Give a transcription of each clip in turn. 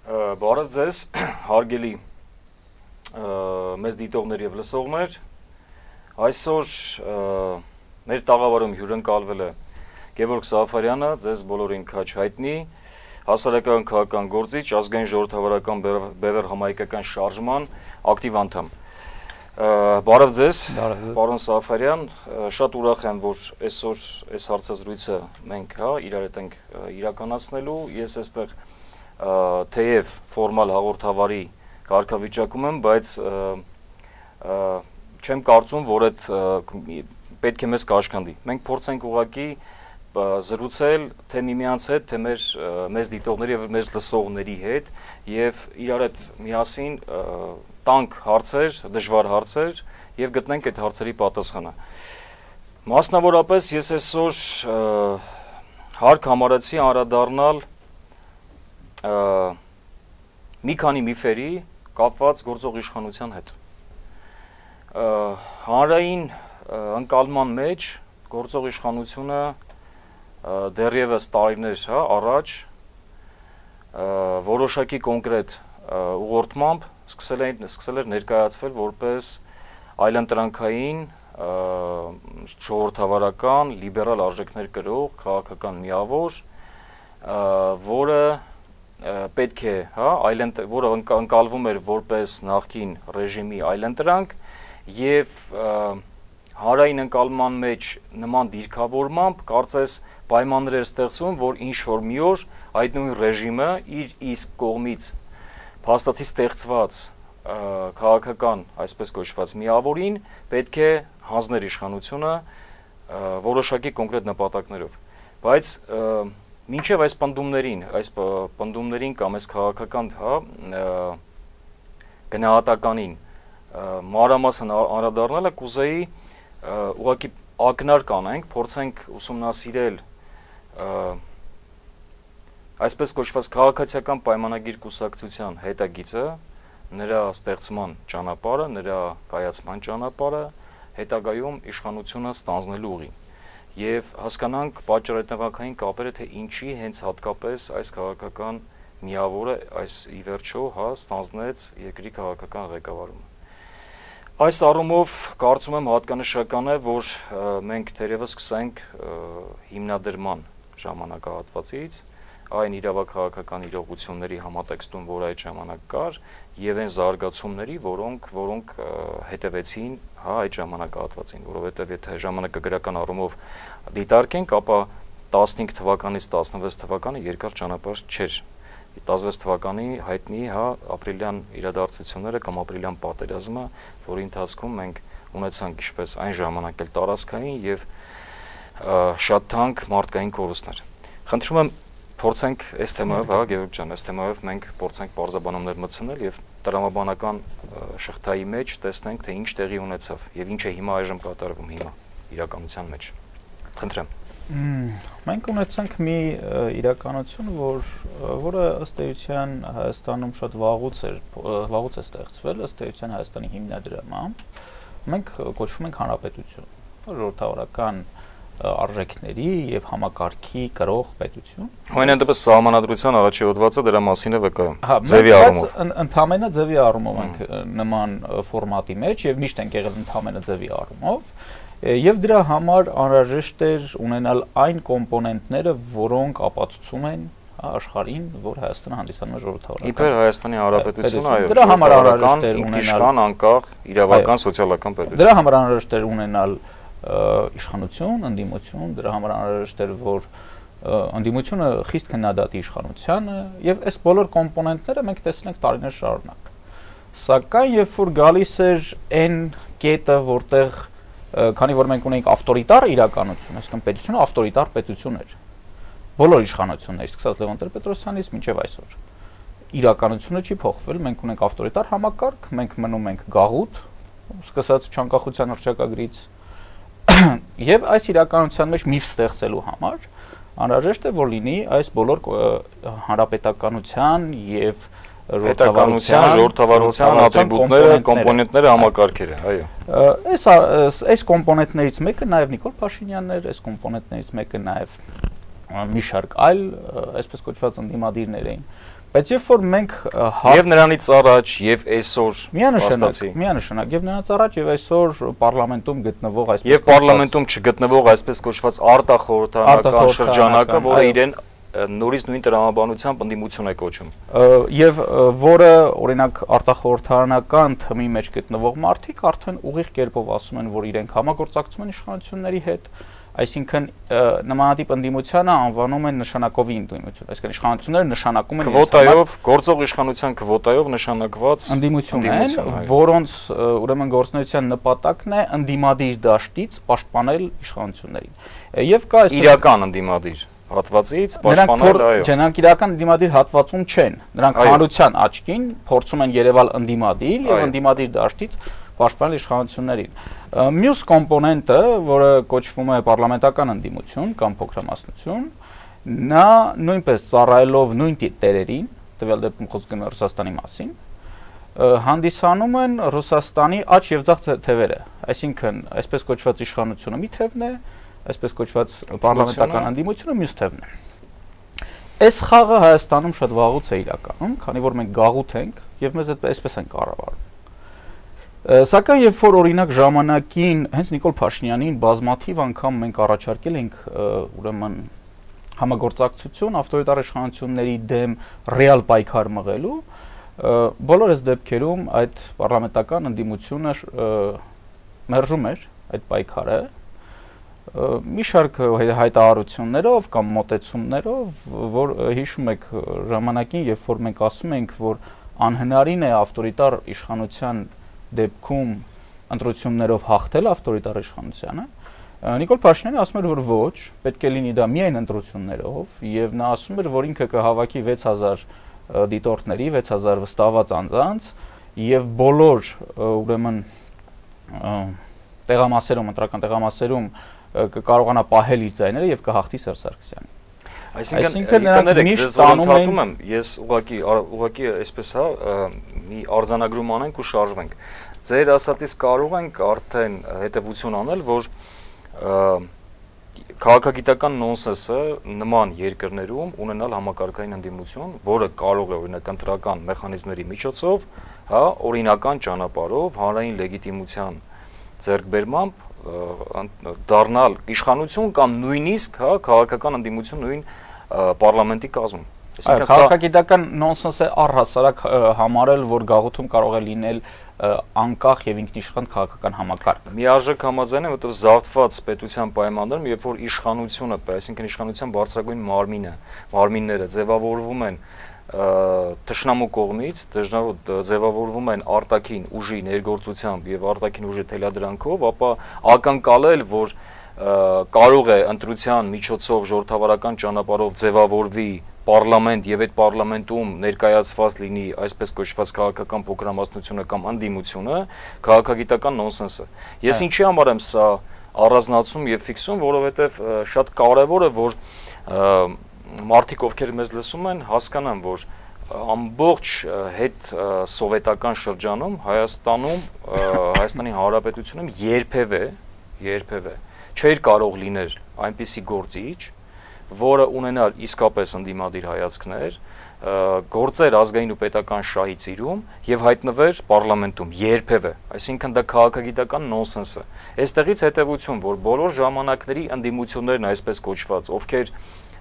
Բարև ձեզ, հարգելի մեզ դիտողներ և լսողներ, այսօր մեր տաղավարում հյուրընկալվել է Գևորգ Սաֆարյանը, ձեզ բոլորին քաչ հայտնի, հասարակական քաղաքական գործիչ, ազգային ժողովրդավարական բևեռ համայնքական շարժման ակտիվ անդամ։ Բարև ձեզ, պարոն Սաֆարյան, շատ ուրախ եմ, որ այսօր այս հարցազրույցը մենք իրար հետ ենք իրականացնելու, ես այստեղ թեև ֆորմալ հաղորդավարի կարգավիճակում եմ, բայց չեմ կարծում, որ այդ պետք է մեզ կաշխանդի։ Մենք փորձենք ուղղակի զրուցել թե միմյանց հետ, թե մեզ դիտողների և մեզ լսողների հետ և իրար հետ միասին տանք հարցեր, դժվար հարցեր և գտնենք այդ հարցերի պատասխանը։ Մասնավորապես ես այսօր հարկ համարեցի անդրադառնալ մի քանի միֆերի կապված գործող իշխանության հետ։ Հանրային ընկալման մեջ գործող իշխանությունը դեռևս տարիներ առաջ որոշակի կոնկրետ ուղղորդմամբ սկսել էր ներկայացվել որպես այլընտրանքային, ժողովրդավարական, լիբերալ արժեքներ կրող քաղաքական միավոր, որը պետք է, որը ընկալվում էր որպես նախկին ռեժիմի այլընտրանք և հանրային ընկալման մեջ նման դիրքավորմամբ կարծես պայմաններ էր ստեղծվում, որ ինչ-որ մի օր այդ նույն ռեժիմը իր իսկ կողմից փաստացի ստեղծված քաղաքական, այսպես կոչված միավորին պետք է հանձներ իշխանությունը որոշակի կոնկրետ նպատակներով, բայց մինչև այս պնդումներին կամ այս քաղաքական գնահատականին մանրամասն անդրադառնալը կուզեի ուղղակի ակնարկ անենք, փորձենք ուսումնասիրել այսպես կոչված քաղաքացիական պայմանագիր կուսակցության հետագիծը, նրա ստեղծման ճանապարհը, նրա կայացման ճանապարհը, հետագայում իշխանությունը ստանձնելու ուղին և հասկանանք պատճառահետևանքային կապերը, թե ինչի հենց հատկապես այս քաղաքական միավորը ի վերջո ստանձնեց երկրի քաղաքական ղեկավարումը։ Այս առումով կարծում եմ հատկանշական է, որ մենք թերևս սկսենք հիմնադրման ժամանակահատվածից, այն իրավաքաղաքական իրողությունների համատեքստում, որ այդ ժամանակ կար, և այն զարգացումների, որոնք հետևեցին այդ ժամանակահատվածին, որովհետև եթե ժամանակագրական առումով դիտարկենք, ապա 15 թվականից 16 թվականը երկար ճանապարհ չէր։ 16 թվականի հայտնի ապրիլյան իրադարձությունները կամ ապրիլյան պատերազմը, որի ընթացքում մենք ունեցանք ինչպես այն ժամանակ էլ տարածքային և շատ թանկ մարդկային կորուստներ։ Խնդրում եմ փորձենք այս թեմայով, Գևորգ ջան, այս թեմայով մենք փորձենք պարզաբանումներ մտցնել և տրամաբանական շղթայի մեջ տեսնենք, թե ինչ տեղի ունեցավ և ինչ է հիմա այժմ կատարվում հիմա իրականության մեջ։ Խնդրեմ։ Մենք ունեցանք մի իրականություն, որը ըստ էության Հայաստանում շատ վաղուց է ստեղծվել, ըստ էության Հայաստանի հիմնադրամամբ, մենք կոչվում ենք հանրապետություն, ժողովրդավարական արժեքների և համակարգի կրող պետություն։ Ամենայն դեպս սահմանադրության առաջի հոդվածը դրա մասին է վկայում, ձևի առումով։ Ընդհանրապես ձևի առումով ենք նման ֆորմատի մեջ և միշտ ենք եղել ընդհանրապես ձևի առումով, և դրա համար անհրաժեշտ էր ունենալ այն կոմպոնենտները, որոնք ապացուցում են աշխարհին, որ Հայաստանը հանդիսանում է ժողովրդավարական։ Իբր Հայաստանի Հանրապետությունը, այո, դրա համար անհրաժեշտ էր ինքնիշխան, անկախ, իրավական, սոցիալական պետություն։ Դրա համար անհրաժեշտ էր ունենալ իշխանություն, ընդդիմություն, դրա համար անհրաժեշտ էր, որ ընդդիմությունը խիստ քննադատի իշխանությանը, և այս բոլոր կոմպոնենտները մենք տեսել ենք տարիներ շարունակ։ Սակայն երբ որ գալիս էր այն կետը, որտեղ քանի որ մենք ունենք ավտորիտար իրականություն, այսինքն պետությունը ավտորիտար պետություն էր։ Բոլոր իշխանություններից, սկսած Լևոն Տեր-Պետրոսյանից մինչև այսօր։ Իրականությունը չի փոխվել, մենք ունենք ավտորիտար համակարգ, մենք մնում ենք գաղութ, սկսած չանկախության հռչակագրից, և այս իրականության մեջ միֆ ստեղծելու համար անհրաժեշտ է, որ լինի այս բոլոր հանրապետականության և ժողովրդավարության ատրիբուտները, կոմպոնենտները, համակարգերը, այո։ Այս կոմպոնենտներից մեկը նաև Նիկոլ Փաշինյանն էր, այս կոմպոնենտներից մեկը նաև մի շարք այլ, այսպես կոչված ընդդիմադիրներ էին, Բայց երբ որ մենք եւ նրանից առաջ եւ այսօր միանշանակ եւ նրանից առաջ եւ այսօր պարլամենտում գտնվող այսպես եւ պարլամենտում չգտնվող այսպես կոչված արտախորհրդարանական շրջանակը, որը իրեն նորից նույն տրամաբանությամբ ընդդիմություն է կոչում եւ որը օրինակ արտախորհրդարանական թմի մեջ գտնվող մարդիկ արդեն ուղիղ կերպով ասում են, որ իրենք համագործակցում են իշխանությունների հետ, այսինքն նմանատիպ ընդդիմությանը անվանում են նշանակովի ընդդիմություն, այսինքն իշխանությունները նշանակում են քվոտայով, գործող իշխանության քվոտայով նշանակված ընդդիմություն են, որոնց ուրեմն գործունեության նպատակն է ընդդիմադիր դաշտից պաշտպանել իշխանություններին։ Եվ կա այսպես իրական ընդդիմադիր հատվածից պաշտպանել, այո։ Նրանք իրական ընդդիմադիր հատվածում չեն։ Նրանք հանրության աչքին փորձում են երևալ ընդդիմադիր եւ ընդդիմադիր դաշտից պաշտպանել իշխանություններին։ Մյուս կոմպոնենտը, որը կոչվում է պարլամենտական ընդդիմություն կամ փոքրամասնություն, նա նույնպես ծառայելով նույն տերերին, տվյալ դեպքում խոսքը գնում է Ռուսաստանի մասին, հանդիսանում են Ռուսաստանի աջ եւ ձախ թևերը, այսինքն այսպես կոչված իշխանությունը մի թևն է, այսպես կոչված պարլամենտական ընդդիմությունը մյուս թևն է։ Այս խաղը Հայաստանում շատ վաղուց է իրականում, քանի որ մենք գաղութ ենք եւ մեզ այսպես են կառավարում։ Սակայն երբ որ օրինակ ժամանակին հենց Նիկոլ Փաշինյանին բազմաթիվ անգամ մենք առաջարկել ենք ուրեմն համագործակցություն ավտորիտար իշխանությունների դեմ ռեալ պայքար մղելու, բոլոր այս դեպքերում այդ պարլամենտական ընդդիմությունը մերժում էր այդ պայքարը մի շարք հայտարարություններով կամ մոտեցումներով, որ հիշում եք ժամանակին, երբ որ մենք ասում ենք, որ անհնարին է ավտորիտար իշխանության դեպքում ընտրություններով հաղթել ավտորիտար իշխանությանը, Նիկոլ Փաշինյանը ասում էր, որ ոչ, պետք է լինի դա միայն ընտրություններով, եւ նա ասում էր, որ ինքը կհավաքի 6000 դիտորդների, 6000 վստահված անձանց եւ բոլոր ուրեմն տեղամասերում, ընտրական տեղամասերում կկարողանա պահել իր ձայները եւ կհաղթի Սերժ Սարգսյանին։ Այսինքն կներեք, ձեզ որոնթատում եմ, ես ուղղակի այսպես մի արձանագրում անենք ու շարժվենք։ Ձեր ասածից կարող ենք արդեն հետևություն անել, որ քաղաքագիտական նոնսենսը նման երկրներում ունենալ համակարգային ընդդիմություն, որը կարող է օրինակ ընտրական մեխանիզմների միջոցով, հա, օրինական ճանապարհով հանրային լեգիտիմության ձեռքբերմամբ դառնալ իշխանություն կամ նույնիսկ հա քաղաքական ընդդիմություն նույն պարլամենտի կազմում։ Այսինքն քաղաքագիտական նոնսենս է առհասարակ համարել, որ գաղութում կարող է լինել անկախ եւ ինքնիշխան քաղաքական համակարգ։ Միաժամանակ համաձայն եմ, որտեղ զավթված պետության պայմաններում, երբ որ իշխանությունը, այսինքն իշխանության բարձրագույն մարմինները ձևավորվում են թշնամու կողմից, ձևավորվում են արտաքին ուժի ներգործությամբ եւ արտաքին ուժի թելադրանքով, ապա ակնկալել, որ կարող է ընտրության միջոցով ժողովրդավարական ճանապարհով ձևավորվի պարլամենտ եւ այդ պարլամենտում ներկայացված լինի այսպես կոչված քաղաքական փոքրամասնությունը կամ ընդդիմությունը, քաղաքագիտական նոնսենս է։ Ես ինչի համար եմ սա առանձնացում եւ ֆիքսում, որովհետեւ շատ կարեւոր է, որ մարդիկ, ովքեր մեզ լսում են, հասկանան, որ ամբողջ հետ սովետական շրջանում Հայաստանի Հանրապետությունում երբևէ չէր կարող լինել այնպիսի գործիչ, որը ունենար իսկապես ընդդիմադիր հայացքներ, գործեր ազգային ու պետական շահի ծիրում եւ հայտնվեր պարլամենտում երբևէ, այսինքն դա քաղաքագիտական նոնսենս է։ Այստեղից հետեւություն, որ բոլոր ժամանակների ընդդիմություններն այսպես կոչված, ովքեր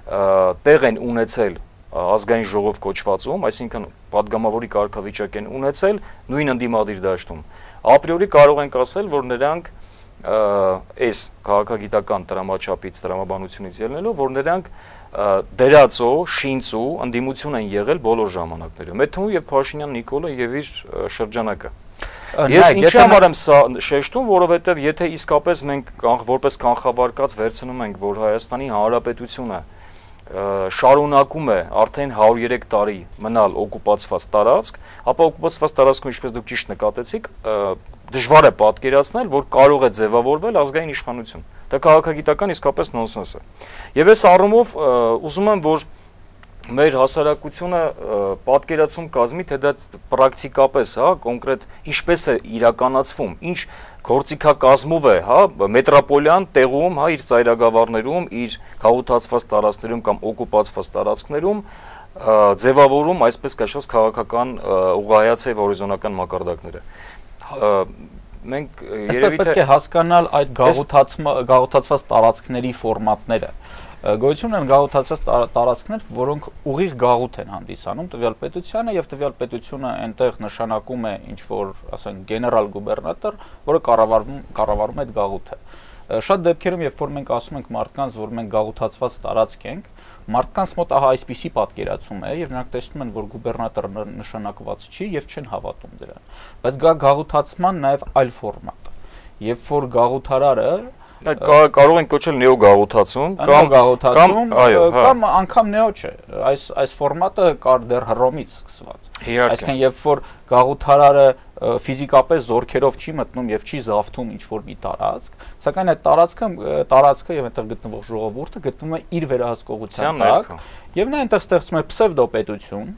տեղ են ունեցել ազգային ժողով կոչվածում, այսինքն падգամավորի կարգավիճակ են ունեցել նույն ընդդիմադիր դաշտում, ապրիորի կարող ենք ասել, որ նրանք այս քաղաքագիտական տրամաչափից, տրամաբանությունից ելնելով, որ նրանք դերածո, շինծու ընդդիմություն են եղել բոլոր ժամանակներում, այդ թվում եւ Փաշինյան Նիկոլը եւ իր շրջանակը։ Ես ինչի համար եմ սա շեշտում, որովհետեւ եթե իսկապես մենք որպես կանխավարկած վերցնում ենք, որ Հայաստանի Հանրապետությունը շարունակում է արդեն 103 տարի մնալ օկուպացված տարածք, ապա օկուպացված տարածքում, ինչպես դուք ճիշտ նկատեցիք, դժվար է պատկերացնել, որ կարող է ձևավորվել ազգային իշխանություն։ Դա քաղաքագիտական իսկապես նոնսենս է։ Եվ այս առումով ուզում եմ, որ մեր հասարակությունը պատկերացում կազմի, թե դա պրակտիկապես, հա, կոնկրետ ինչպես է իրականացվում, ինչ գործիքակազմով է, հա, մետրոպոլյան տեղում, հա, իր ծայրագավառներում, իր գաղութացված տարածքներում կամ օկուպացված տարածքներում ձևավորում այսպես կոչված քաղաքական ուղղահայացի հորիզոնական մակարդակները։ Մենք երևի թե պետք է հասկանալ այդ գաղութացված տարածքների ֆորմատները։ Գոյություն են գաղութացված տարածքներ, որոնք ուղիղ գաղութ են հանդիսանում տվյալ պետությանը եւ տվյալ պետությունը այնտեղ նշանակում է ինչ որ, ասենք, գեներալ գուբերնատոր, որը կառավարում է այդ գաղութը։ Շատ դեպքերում, երբ որ մենք ասում ենք մարդկանց, որ մենք գաղութացված տարածք ենք, մարդկանց մոտ ահա այսպիսի պատկերացում է եւ նրանք տեսնում են, որ գուբերնատորը նշանակված չի եւ չեն հավատում դրան։ Բայց գաղութացման նաեւ այլ ֆորմատ։ Երբ որ գաղութարարը կարող են կոչել նեոգաղութացում կամ անգամ նեո չէ։ Այս ֆորմատը կար դեռ Հռոմից սկսված։ Այսինքն երբ որ գաղութարարը ֆիզիկապես զորքերով չի մտնում եւ չի զավթում ինչ որ մի տարածք, սակայն այդ տարածքը եւ այնտեղ գտնվող ժողովուրդը գտնվում է իր վերահսկողության տակ եւ նա այնտեղ ստեղծում է պսևդոպետություն,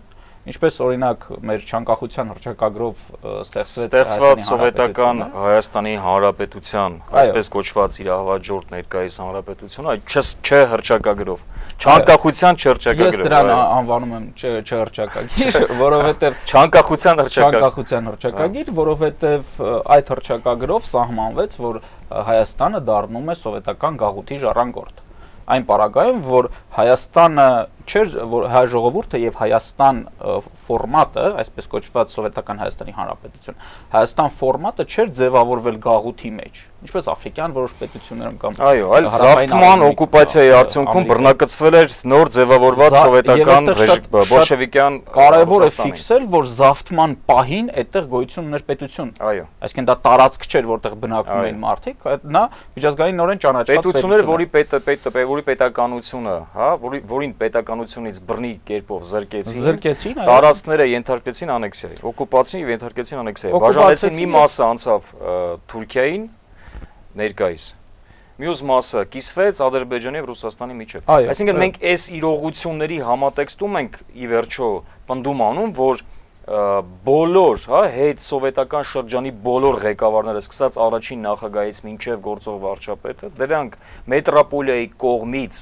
ինչպես օրինակ մեր չանկախության հռչակագրով ստեղծված սովետական Հայաստանի Հանրապետության, այսպես կոչված իր հավաջորդ ներկայիս հանրապետությունը, չէ հռչակագրով, չանկախության չհռչակագրով։ Ես դրան անվանում եմ չհռչակագիր, որովհետև չանկախության հռչակագիր, որովհետև այդ հռչակագրով սահմանվեց, որ Հայաստանը դառնում է սովետական գաղութի ժառանգորդ։ Այն պարագայում, որ Հայաստանը չէր, որ հայ ժողովուրդը եւ Հայաստան ֆորմատը, այսպես կոչված սովետական Հայաստանի Հանրապետություն, Հայաստան ֆորմատը չէր ձևավորվել գաղութի մեջ, ինչպես աֆրիկյան որոշ պետություններում կամ այո, այլ զավթման օկուպացիայի արդյունքում բռնակցվել էր նոր ձևավորված սովետական բոլշևիկյան։ Կարևոր է ֆիքսել, որ զավթման պահին այդտեղ գոյություն ուներ պետություն։ Այո, այսինքն դա տարածք չէր, որտեղ բնակվում էին մարդիկ, նա միջազգայինորեն ճանաչված պետություններ, որի պետականությունը, հա, որին պետականությունից բռնի կերպով զրկեցին, տարածքները ենթարկեցին անեքսիայի, օկուպացիային եւ ենթարկեցին անեքսիայի, բաժանեցին մի մասը անցավ Թուրքիային ներկայիս, մյուս մասը կիսվեց Ադրբեջանի եւ Ռուսաստանի միջեւ։ Այսինքն մենք այս իրողությունների համատեքստում ենք ի վերջո պնդում անում, որ բոլոր, հա, հետ սովետական շրջանի բոլոր ղեկավարները, սկսած առաջին նախագահից մինչև գործող վարչապետը, դրանք մետրոպոլիայի կողմից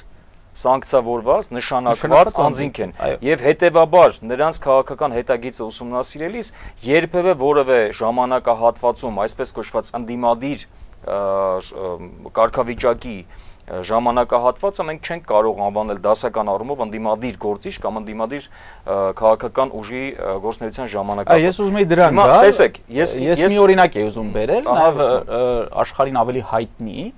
սանկցավորված, նշանակված անձինք են եւ հետեւաբար նրանց քաղաքական հետագիծը ուսումնասիրելիս երբևէ որևէ ժամանակահատվածում, այսպես կոչված ընդդիմադիր կարգավիճակի ժամանակահատվածը մենք չենք կարող անվանել դասական առումով ընդդիմադիր գործիչ կամ ընդդիմադիր քաղաքական ուժի գործունեության ժամանակահատված։ Ես ուզում եի դրան գալ։ Տեսեք, ես մի օրինակ եի ուզում բերել, նաև աշխարհին ավելի հայտնի,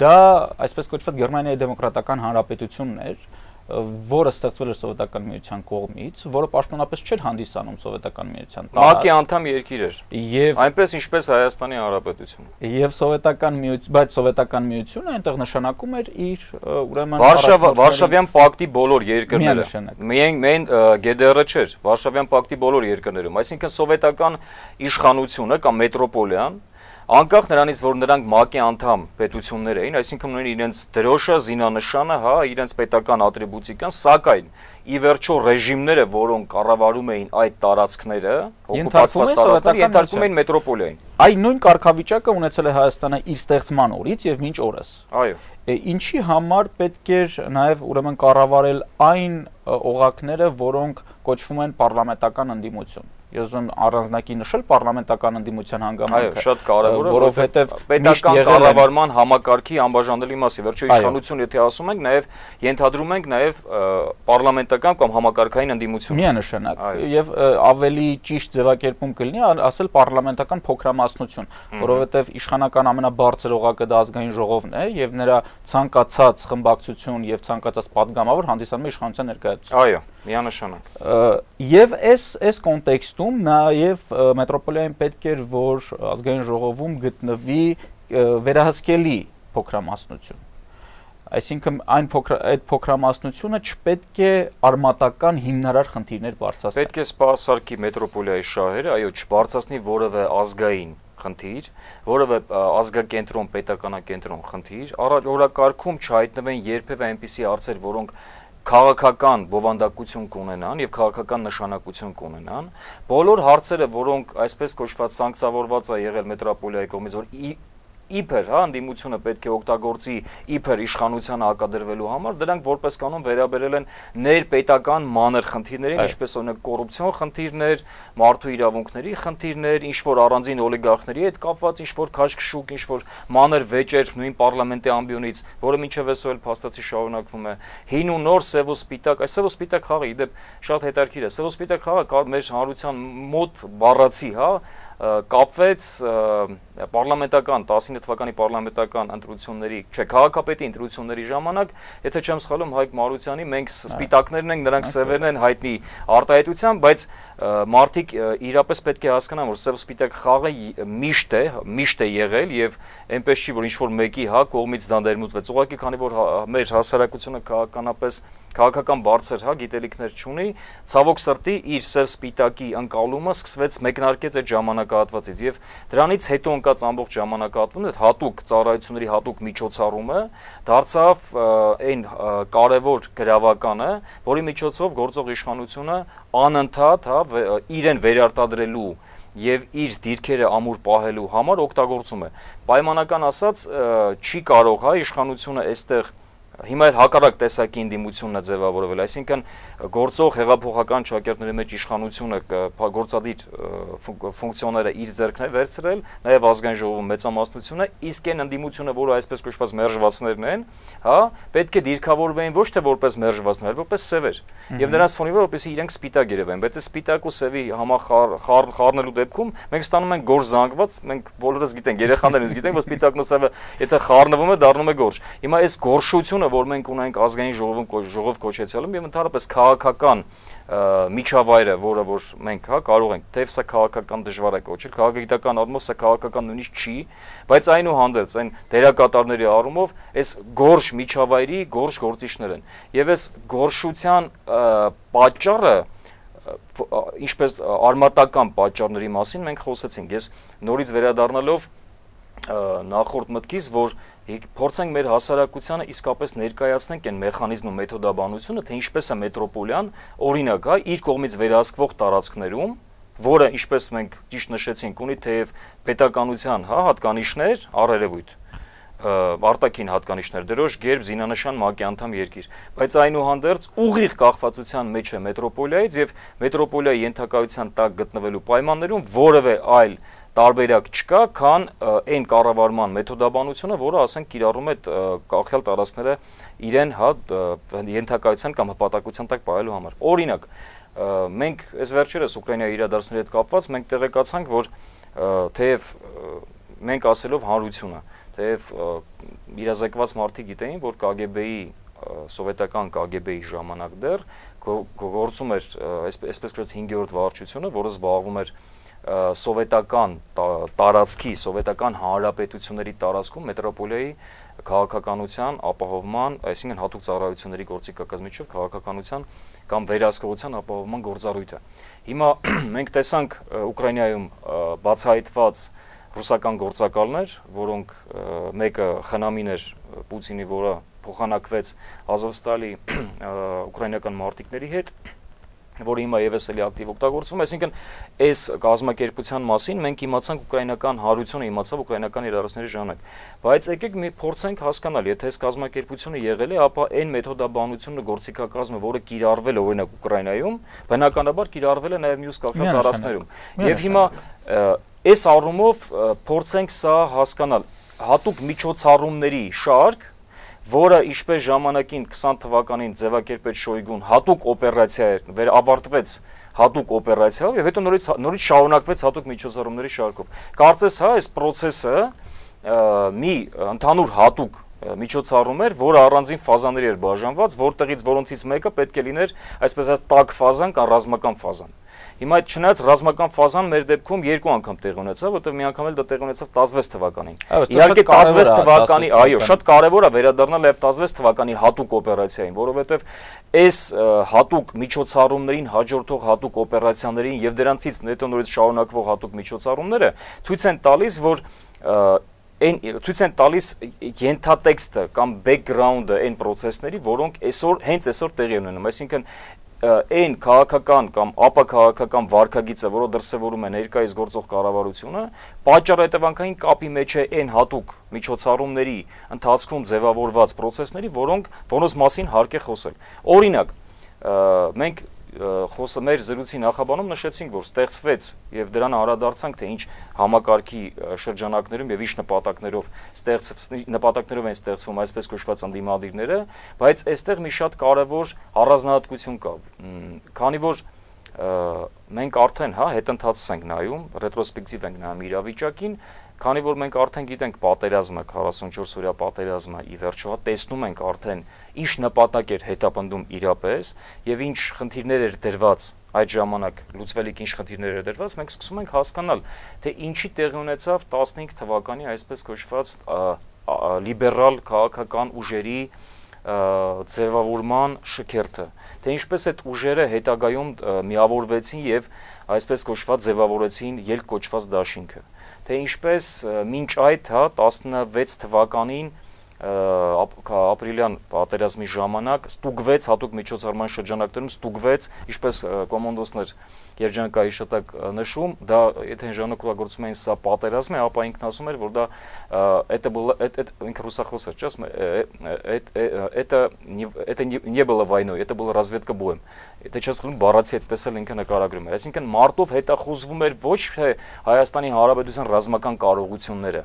դա այսպես կոչված Գերմանիայի դեմոկրատական հանրապետությունն էր, որը ստեղծվել էր սովետական միության կողմից, որը պաշտոնապես չէր հանդիսանում սովետական միության տարածք։ ՄԱԿ-ի անդամ երկիր էր։ Եվ այնպես ինչպես Հայաստանի Հանրապետությունը։ Եվ սովետական միություն, բայց սովետական միությունը այնտեղ նշանակում էր իր ուրեմն Վարշավյան պակտի բոլոր երկրները։ Միայն ԳԴՌ-ը չէր, Վարշավյան պակտի բոլոր երկրներում, այսինքն սովետական իշխանությունը կամ մետրոպոլիան անկախ նրանից, որ նրանք ՄԱԿ-ի անդամ պետություններ էին, այսինքն ունեն իրենց դրոշը, զինանշանը, հա, իրենց պետական ատրիբուտիկան, սակայն ի վերջո ռեժիմները, որոնք կառավարում էին այդ տարածքները, օկուպացված տարածքները, ենթարկվում էին մետրոպոլիային։ Այն նույն կարգավիճակը ունեցել է Հայաստանը իր ստեղծման օրից եւ մինչ օրս։ Այո։ Ինչի համար պետք էր նաեւ ուրեմն կառավարել այն օղակները, որոնք կոչվում են պարլամենտական ընդդիմություն։ Ես ուզում առանձնակի նշել պարլամենտական ընդդիմության հանգամանքը։ Այո, շատ կարևոր է, որովհետև պետական կառավարման համակարգի անբաժանելի մաս է։ Վերջո իշխանություն, եթե ասում ենք, նաև ենթադրում ենք նաև պարլամենտական կամ համակարգային ընդդիմություն։ Միանշանակ։ Եվ ավելի ճիշտ ձևակերպում կլինի ասել պարլամենտական փոքրամասնություն, որովհետև իշխանական ամենաբարձր օղակը դա ազգային ժողովն է եւ նրա ցանկացած խմբակցություն եւ ցանկացած падգամավոր հանդիսանում է իշխանության ներկայացուցիչ։ Այո, միանշանակ։ Եվ այս կոնտեքստում նաև մետրոպոլիային պետք էր, որ ազգային ժողովում գտնվի վերահսկելի փոքրամասնություն։ Այսինքն այդ փոքրամասնությունը չպետք է արմատական հիմնարար խնդիրներ բարձրացնի։ Պետք է սպասարկի մետրոպոլիայի շահերը, այո, չբարձրացնի որևէ ազգային խնդիր, որևէ ազգակենտրոն, պետականակենտրոն խնդիր, օրակարգում չհայտնվեն երբևէ այնպիսի հարցեր, որոնք քաղաքական բովանդակություն կունենան եւ քաղաքական նշանակություն կունենան, բոլոր հարցերը, որոնք այսպես կոչված սանկցավորված է եղել մետրոպոլիայի կողմից, որ իբր, հա, ընդդիմությունը պետք է օգտագործի իբր իշխանությանը հակադրվելու համար, դրանք որպես կանոն վերաբերել են ներպետական մանր խնդիրներին, ինչպես օրինակ կոռուպցիոն խնդիրներ, մարդու իրավունքների խնդիրներ, ինչ որ առանձին օլիգարխների հետ կապված ինչ որ քաշքշուկ, ինչ որ մանր վեճեր նույն պարլամենտի ամբիոնից, որը մինչև այսօր էլ փաստացի շարունակվում է։ Հին ու նոր սև ու սպիտակ, այս սև ու սպիտակ խաղը իդեպ շատ հետաքրքիր է։ Սև ու սպիտակ խաղը մեր հանրության մոտ բառացի, հա, կապվեց պարլամենտական 19 թվականի պարլամենտական ընտրությունների, չէ, քաղաքապետի ընտրությունների ժամանակ, եթե չեմ սխալվում, Հայկ Մարությանի, մենք սպիտակներն ենք, նրանք սևերն են հայտնի արտահայտությամբ, բայց մարդիկ իրապես պետք է հասկանան, որ սև սպիտակ խաղը միշտ է եղել եւ այնպես չի, որ ինչ որ մեկի, հա, կողմից դա ներմուծվեց։ Ուղղակի քանի որ մեր հասարակությունը քաղաքական բարձր, հա, գիտելիքներ չունի, ցավոք սրտի իր սև սպիտակի ընկալումը սկսվեց մեկնարկեց այդ ժամանակահատվածից եւ դրանից հետո ընկած ամբողջ ժամանակահատվածն այդ հատուկ ծառայությունների հատուկ միջոցառումը դարձավ այն կարևոր գրավականը, որի միջոցով գործող իշխանությունը անընդհատ, հա, իրեն վերարտադրելու եւ իր դիրքերը ամուր պահելու համար օգտագործում է։ Պայմանական ասած չի կարող, հա, իշխանությունը այստեղ հիմա էլ հակառակ տեսակի ընդդիմությունն է ձևավորվել, այսինքն գործող հեղափոխական ճակերտների մեջ իշխանությունը գործադիր ֆունկցիաները իր ձեռքն է վերցրել, նաև ազգային ժողովում մեծամասնությունը, իսկ այն ընդդիմությունը, որը այսպես կոչված մերժվածներն են, հա, պետք է դիրքավորվեն ոչ թե որպես մերժվածներ, այլ որպես սևեր։ Եվ դրանց ֆոնի վրա որպեսզի իրենք սպիտակ երևեն, բայց այս սպիտակ ու սևի համախառնելու դեպքում մենք ստանում ենք գորշ զանգված, մենք բոլորս գիտենք, երեխաներս գիտենք, որ սպիտակն ու սևը եթե խառնվում է, դառնում է գորշ։ Հիմա այս գորշությունը, որ մենք ունենք ազգային ժողով կոչեցյալում եւ ընդհանրապես քաղաքական միջավայրը, որը որ մենք, հա, կարող ենք, թեև սա քաղաքական դժվար է կոչել, քաղաքագիտական առումով սա քաղաքական նույնիսկ չի, բայց այնուհանդերձ այն դերակատարների առումով այս գորշ միջավայրի գորշ գործիչներ են։ Եվ այս գորշության պատճառը ինչպես արմատական պատճառների մասին մենք խոսեցինք։ Ես նորից վերադառնալով նախորդ մտքից, որ փորձենք մեր հասարակությանը իսկապես ներկայացնենք այն մեխանիզմ ու մեթոդաբանությունը, թե ինչպես է մետրոպոլիան, օրինակ, հա, իր կողմից վերահսկվող տարածքներում, որը, ինչպես մենք ճիշտ նշեցինք, ունի թեև պետականության, հա, հատկանիշներ, առերևույթ, արտաքին հատկանիշներ, դրոշ, գերբ, զինանշան, ՄԱԿ-ի անդամ երկիր, բայց այնուհանդերձ ուղիղ կախվածության մեջ է մետրոպոլիայից եւ մետրոպոլիայի ենթակայության տակ գտնվելու պայմաններում որևէ այլ տարբերակ չկա, քան այն կառավարման մեթոդաբանությունը, որը ասենք կիրառում է կախյալ տարածքները իրեն, հա, ենթակայության կամ հպատակության տակ պահելու համար։ Օրինակ, մենք այս վերջերս Ուկրաինայի իրադարձությունների հետ կապված մենք տեղեկացանք, որ թեև մենք ասելով հանրությունը, թեև իրազեկված մարդիկ գիտեին, որ KGB-ի սովետական KGB-ի ժամանակ դեռ գործում էր այսպես կոչված 5-րդ վարչությունը, որը զբաղվում էր սովետական տարածքի, սովետական հանրապետությունների տարածքում մետրոպոլիայի քաղաքականության ապահովման, այսինքն հատուկ ծառայությունների գործիքակազմիչով քաղաքականության կամ վերահսկողության ապահովման գործառույթը։ Հիմա մենք տեսանք Ուկրաինայում բացահայտված ռուսական գործակալներ, որոնք մեկը խնամին էր Պուտինի, որը փոխանակվեց Ազովստալի ուկրաինական մարտիկների հետ, որը հիմա եւս էլի ակտիվ օգտագործվում է, այսինքն այս կազմակերպության մասին մենք իմացանք ուկրաինական հանրությունը իմացավ ուկրաինական իրադարձությունների ժամանակ, բայց եկեք մի փորձենք հասկանալ, եթե այս կազմակերպությունը եղել է, ապա այն մեթոդաբանությունը գործիքակազմը, որը կիրառվել է օրինակ Ուկրաինայում, բնականաբար կիրառվել է նաեւ մյուս կախյալ տարածքներում։ Եվ հիմա այս առումով փորձենք սա հասկանալ, հատուկ միջոցառումների շարք, որը ինչպես ժամանակին 20 թվականին ձևակերպեց Շոյգուն հատուկ օպերացիա էր, ավարտվեց հատուկ օպերացիայով եւ հետո նորից շարունակվեց հատուկ միջոցառումների շարքով։ Կարծես, հա, այս process-ը մի ընդհանուր հատուկ միջոցառում էր, որը առանձին ֆազաների էր բաժանված, որոնցից մեկը պետք է լիներ այսպես ասած տաք ֆազան կամ ռազմական ֆազան։ Հիմա այդ չնայած ռազմական ֆազան մեր դեպքում երկու անգամ տեղի ունեցավ, որտեղ մի անգամ էլ դա տեղի ունեցավ 16 թվականին։ Իհարկե 16 թվականի, այո, շատ կարևոր է վերադառնալ նաև 16 թվականի հատուկ օպերացիային, որովհետև այս հատուկ միջոցառումներին հաջորդող հատուկ օպերացիաներին եւ դրանցից հետո նորից շարունակվող հատուկ միջոցառումները ցույց են տալիս, որ ցույց են տալիս ենթատեքստը կամ բեքգրաունդը այն process-ների, որոնք հենց այսօր տեղի ունենում, այսինքն այն քաղաքական կամ ապաքաղաքական վարքագիծը, որը դրսևորում է ներկայիս գործող կառավարությունը, պատճառ-հետևանքային կապի մեջ է այն հատուկ միջոցառումների ընթացքում ձևավորված process-ների, որոնց մասին հարկ է խոսել։ Օրինակ, մենք մեր զրույցի նախաբանում նշեցինք, որ ստեղծվեց եւ դրան անդրադարձանք, թե ինչ համակարգի շրջանակներում եւ ինչ նպատակներով են ստեղծվում այսպես կոչված ընդդիմադիրները, բայց այստեղ մի շատ կարեւոր առանձնահատկություն կա, քանի որ մենք արդեն հետընթաց ենք նայում, ռետրոսպեկտիվ ենք նայում իրավիճակին, քանի որ մենք արդեն գիտենք պատերազմը, 44 օրյա պատերազմը ի վերջո տեսնում ենք արդեն ինչ նպատակ էր հետապնդում իրապես եւ ինչ խնդիրներ էր դրված այդ ժամանակ լուծվելիք ինչ խնդիրներ էր դրված, մենք սկսում ենք հասկանալ, թե ինչի տեղի ունեցավ 15 թվականի այսպես կոչված լիբերալ քաղաքական ուժերի ձևավորման շքերթը, թե ինչպես այդ ուժերը հետագայում միավորվեցին եւ այսպես կոչված ձևավորեցին ելք կոչված դաշինքը, թե ինչպես մինչ այդ 16 թվականին ապրիլյան պատերազմի ժամանակ ստուգվեց հատուկ միջոցառման շրջանակներում ստուգվեց, ինչպես կոմոնդոսներ երջանկայի շտակ նշում, դա եթե ժամանակավորում էին սա պատերազմ է, ապա ինքն ասում էր, որ դա ինքը ռուսախոս էր, это не было войной, это была разведка боем։ Եթե չես խլում բառացի այդպես էլ ինքը նկարագրում էր, այսինքն մարտով հետախուզվում էր ոչ թե Հայաստանի Հանրապետության ռազմական կարողությունները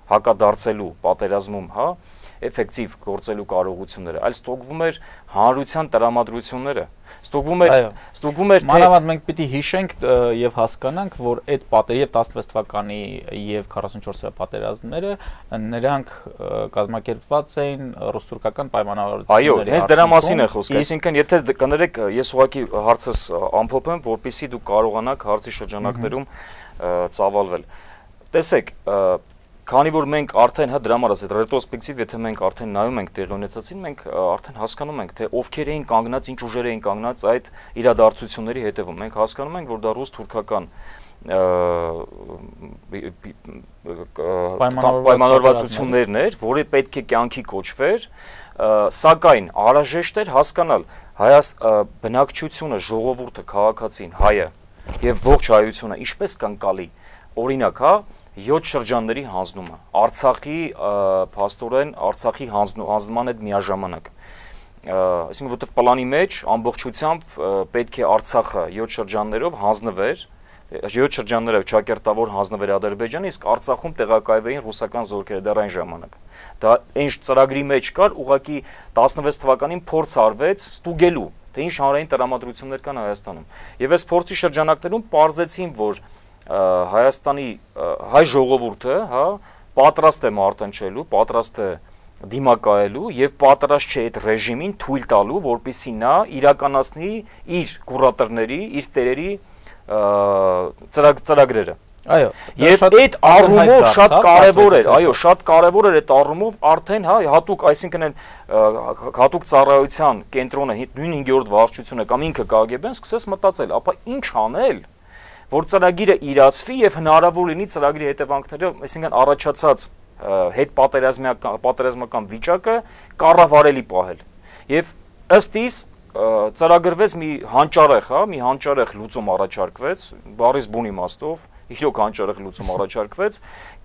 հակադարձելու պատերազմում, էֆեկտիվ գործելու կարողությունները, այլ ստուգվում էր հանրության տրամադրությունները, ստուգվում էր թե մանավանդ մենք պիտի հիշենք եւ հասկանանք, որ այդ պատերազմը 16 թվականի եւ 44-ի պատերազմները նրանք կազմակերպված էին ռուս-թուրքական պայմանավորվածությունների։ Այո, հենց դրա մասին է խոսքը, այսինքն եթե կներեք, ես ուղղակի հարցս ամփոփեմ, որպեսզի դուք կարողանաք հարցի շրջանակներում ծավալվել։ Տեսեք, քանի որ մենք արդեն դրա համար ասած ռետրոսպեկտիվ, եթե մենք արդեն նայում ենք տեղի ունեցածին, մենք արդեն հասկանում ենք, թե ովքեր էին կանգնած, ինչ ուժեր էին կանգնած այդ իրադարձությունների հետևում։ Մենք հասկանում ենք, որ դա ռուս-թուրքական պայմանավորվածություններն էր, որը պետք է կյանքի կոչվեր, սակայն անհրաժեշտ էր հասկանալ բնակչությունը, ժողովուրդը, քաղաքացին, հայը եւ ողջ հայությունը ինչպես կընկալի, օրինակ, 7 շրջանների հանձնումը, Արցախի փաստորեն Արցախի հանձնման հետ միաժամանակ, այսինքն որտեղ պլանի մեջ ամբողջությամբ պետք է Արցախը 7 շրջաններով հանձնվեր, 7 շրջաններով ճակերտավոր հանձնվեր Ադրբեջանը, իսկ Արցախում տեղակայվեին ռուսական զորքերը դեռ այն ժամանակ։ Դա այն ծրագրի մեջ կար, ուղղակի 16 թվականին փորձ արվեց ստուգելու, թե ինչ հանրային տրամադրություններ կան Հայաստանում։ Եվ այս փորձի շրջանակներում պարզեցին, որ Հայաստանի հայ ժողովուրդը, պատրաստ է մարտնչելու, պատրաստ է դիմակայելու եւ պատրաստ չէ այդ ռեժիմին թույլ տալու, որպեսզի նա իրականացնի իր կուրատորների, իր տերերի ծրագրերը։ Այո, եւ այդ առումով շատ կարեւոր էր, այո, շատ կարեւոր էր այդ առումով արդեն հատուկ, այսինքն այն հատուկ ծառայության կենտրոնը, նույն 5-րդ վարչությունը կամ ինքը KGB-ն սկսեց մտածել, ապա ինչ անել, որ ծրագիրը իրացվի եւ հնարավոր լինի ծրագրի հետևանքները, այսինքն առաջացած հետ պատերազմական վիճակը կառավարելի պահել։ Եվ ըստ իս ծրագրվեց մի հանճարեղ լուծում առաջարկվեց, բառից բուն իմաստով, իրոք հանճարեղ լուծում առաջարկվեց,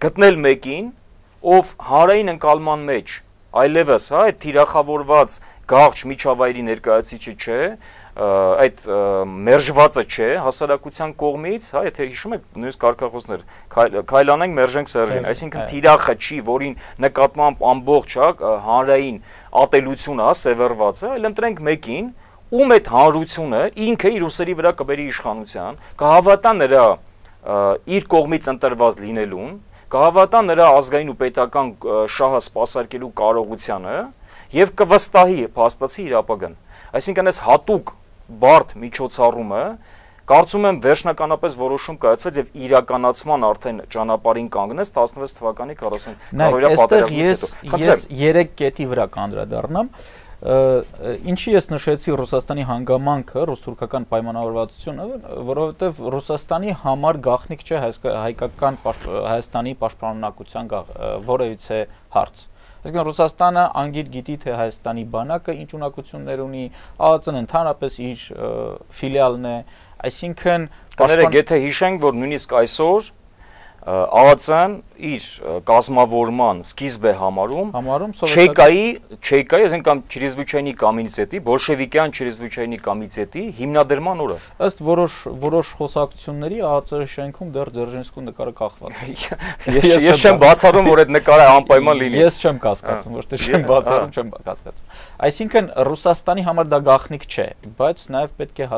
գտնել մեկին, ով հանրային ընկալման մեջ այլևս այդ թիրախավորված գաղճ միջավայրի ներկայացիչը չէ, այդ մերժվածը չէ հասարակության կողմից, եթե հիշում եք նույնիսկ կարգախոսներ, քայլանենք մերժենք Սերժին, այսինքն թիրախը չի, որին նկատմամբ ամբողջ հանրային ատելությունը սևեռված է, այլ ընտրենք մեկին, ում այդ հանրությունը ինքը իր ուսերի վրա կբերի իշխանության, կհավատա նրա իր կողմից ընտրված լինելուն, կհավատա նրա ազգային ու պետական շահը սպասարկելու կարողությանը եւ կվստահի փաստացի իր ապագան։ Այսինքն այս հատուկ բարդ միջոցառումը կարծում եմ վերջնականապես որոշում կայացվեց եւ իրականացման արդեն ճանապարհին կանգնեց 16 թվականի 40-օրյա պատերազմից հետո։ Ես 3 կետի վրա կանդրադառնամ։ Ինչի ես նշեցի Ռուսաստանի հանգամանքը, ռուս-թուրքական պայմանավորվածությունը, որովհետև Ռուսաստանի համար գաղտնիք չէ հայկական Հայաստանի պաշտպանունակության որևիցե հարց։ Այսինքն Ռուսաստանը անգիր գիտի թե Հայաստանի բանակը ինչ ունակություններ ունի, ԱԱԾ-ն ընդհանրապես իր ֆիլիալն է, այսինքն կաներեք եթե հիշենք, որ նույնիսկ այսօր ԱԱԾ-ն իր կազմավորման սկիզբ է համարում Չեկայի, այսինքն կամ Չրեզվիչայնի կոմիտետի, բոլշևիկյան Չրեզվիչայնի կոմիտետի հիմնադրման օրը։ Ըստ որոշ խոսակցությունների ԱԱԾ-ի շենքում դեռ Ձերժինսկու նկարը կախված է։ Ես չեմ բացառում, որ այդ նկարը անպայման լինի։ Ես չեմ կասկածում, ոչ թե չեմ բացառում, չեմ կասկածում։ Այսինքն Ռուսաստանի համար դա գաղտնիք չէ, բայց նաև պետք է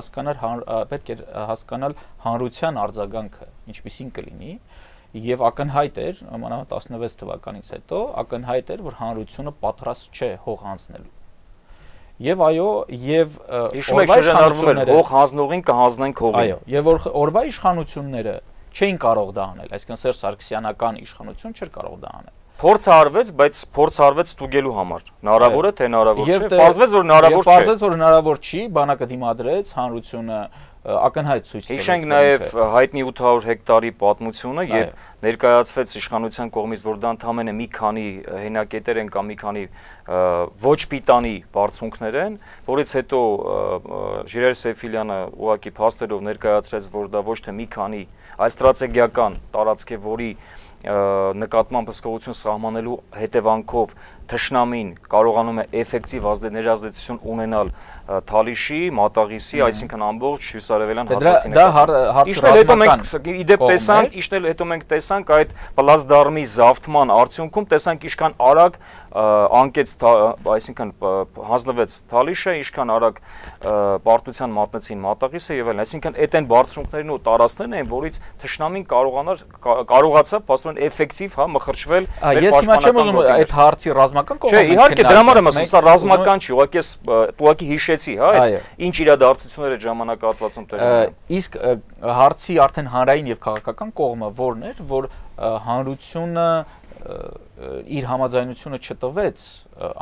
հասկանալ հանրության արձագանքը, ինչպիսին կլինի։ Եվ ակնհայտ էր, մանավանդ 16 թվականից հետո, ակնհայտ էր, որ հանրությունը պատրաստ չէ հող հանձնելու։ Եվ այո, եւ օրվա իշխանությունները հող հանձնողին կհանձնենք հողին։ Այո, եւ օրվա իշխանությունները չէին կարող դա անել, այսինքն Սերժ Սարգսյանական իշխանություն չէր կարող դա անել։ Փորձ արվեց, բայց փորձ արվեց ստուգելու համար։ Հնարավոր է թե հնարավոր չէ։ Պարզվեց, որ հնարավոր չէ։ Պարզվեց, որ հնարավոր չի, բանակը դիմադրեց, հանրությունը ակնհայտ ցույց տվեց։ Հիշենք նաև հայտնի 800 հեկտարի պատմությունը, երբ ներկայացվեց իշխանության կողմից, որ դա ընդամենը մի քանի հենակետեր են կամ մի քանի ոչ պիտանի բարձունքներ են, որից հետո Ժիրայր Սեֆիլյանը ուղղակի փաստերով ներկայացրեց, որ դա ոչ թե մի քանի, այլ ստրատեգիական տարածք է, որի նկատմամբ հսկողություն սահմանելու հետևանքով թշնամին կարողանում է էֆեկտիվ ներազդեցություն ունենալ Թալիշի, Մատաղիսի, այսինքն ամբողջ հյուսարևելյան հատվածի նկատմամբ։ Իշտել հետո մենք տեսանք այդ պլազդարմի զավթման արդյունքում տեսանք ինչքան արագ անկեց, այսինքն հանձնվեց Թալիշը, ինչքան արագ պարտության մատնեցին Մատաղիսը եւ այլն, այսինքն այդ այն բարձրությունքներն ու տարածքներն են, որից թշնամին կարողացավ փաստորեն էֆեկտիվ մխրճվել մեր պաշտպանական գործի։ Այդ հարցի ռազմական կողմը։ Չէ, իհարկե դրա համար եմ ասում, սա ռազմական չի, ուղղակի հիշեցի, հա, ինչ իրադարձություններ այդ ժամանակահատվածում տեղի ունեն։ Իսկ հարցի արդեն հանրային եւ քաղաքական կողմը որն էր, որ հանրությունը իր համաձայնությունը չտվեց,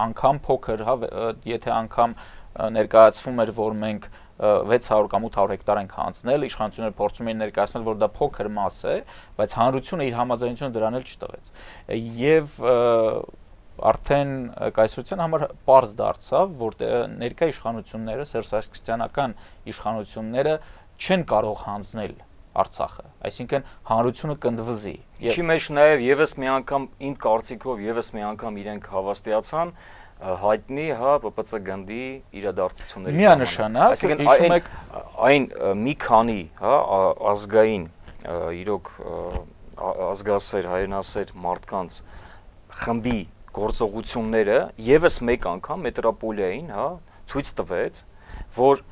անգամ փոքր, հա, եթե անգամ ներկայացվում էր, որ մենք 600 կամ 800 հեկտար ենք հանձնել, իշխանությունները փորձում էին ներկայացնել, որ դա փոքր մաս է, բայց հանրությունը իր համաձայնությունը դրան էլ չտվեց։ Եվ արդեն կայսրության համար պարզ դարձավ, որ ներկա իշխանությունները, Սերժ Սարգսյանական իշխանությունները չեն կարող հանձնել Արցախը, այսինքն հանրությունը կնդվզի։ Ինչի մեջ նաև եւս մի անգամ իմ կարծիքով եւս մի անգամ իրենք հավաստիացան հայտնի, հա, ՊՊՑ գնդի իրադարձությունների ժամանակ։ Այսինքն այն մի քանի, հա, ազգային իրոք ազգասեր, հայրենասեր մարդկանց խմբի գործողությունները եւս մեկ անգամ մետրոպոլիային, հա, ցույց տվեց, որ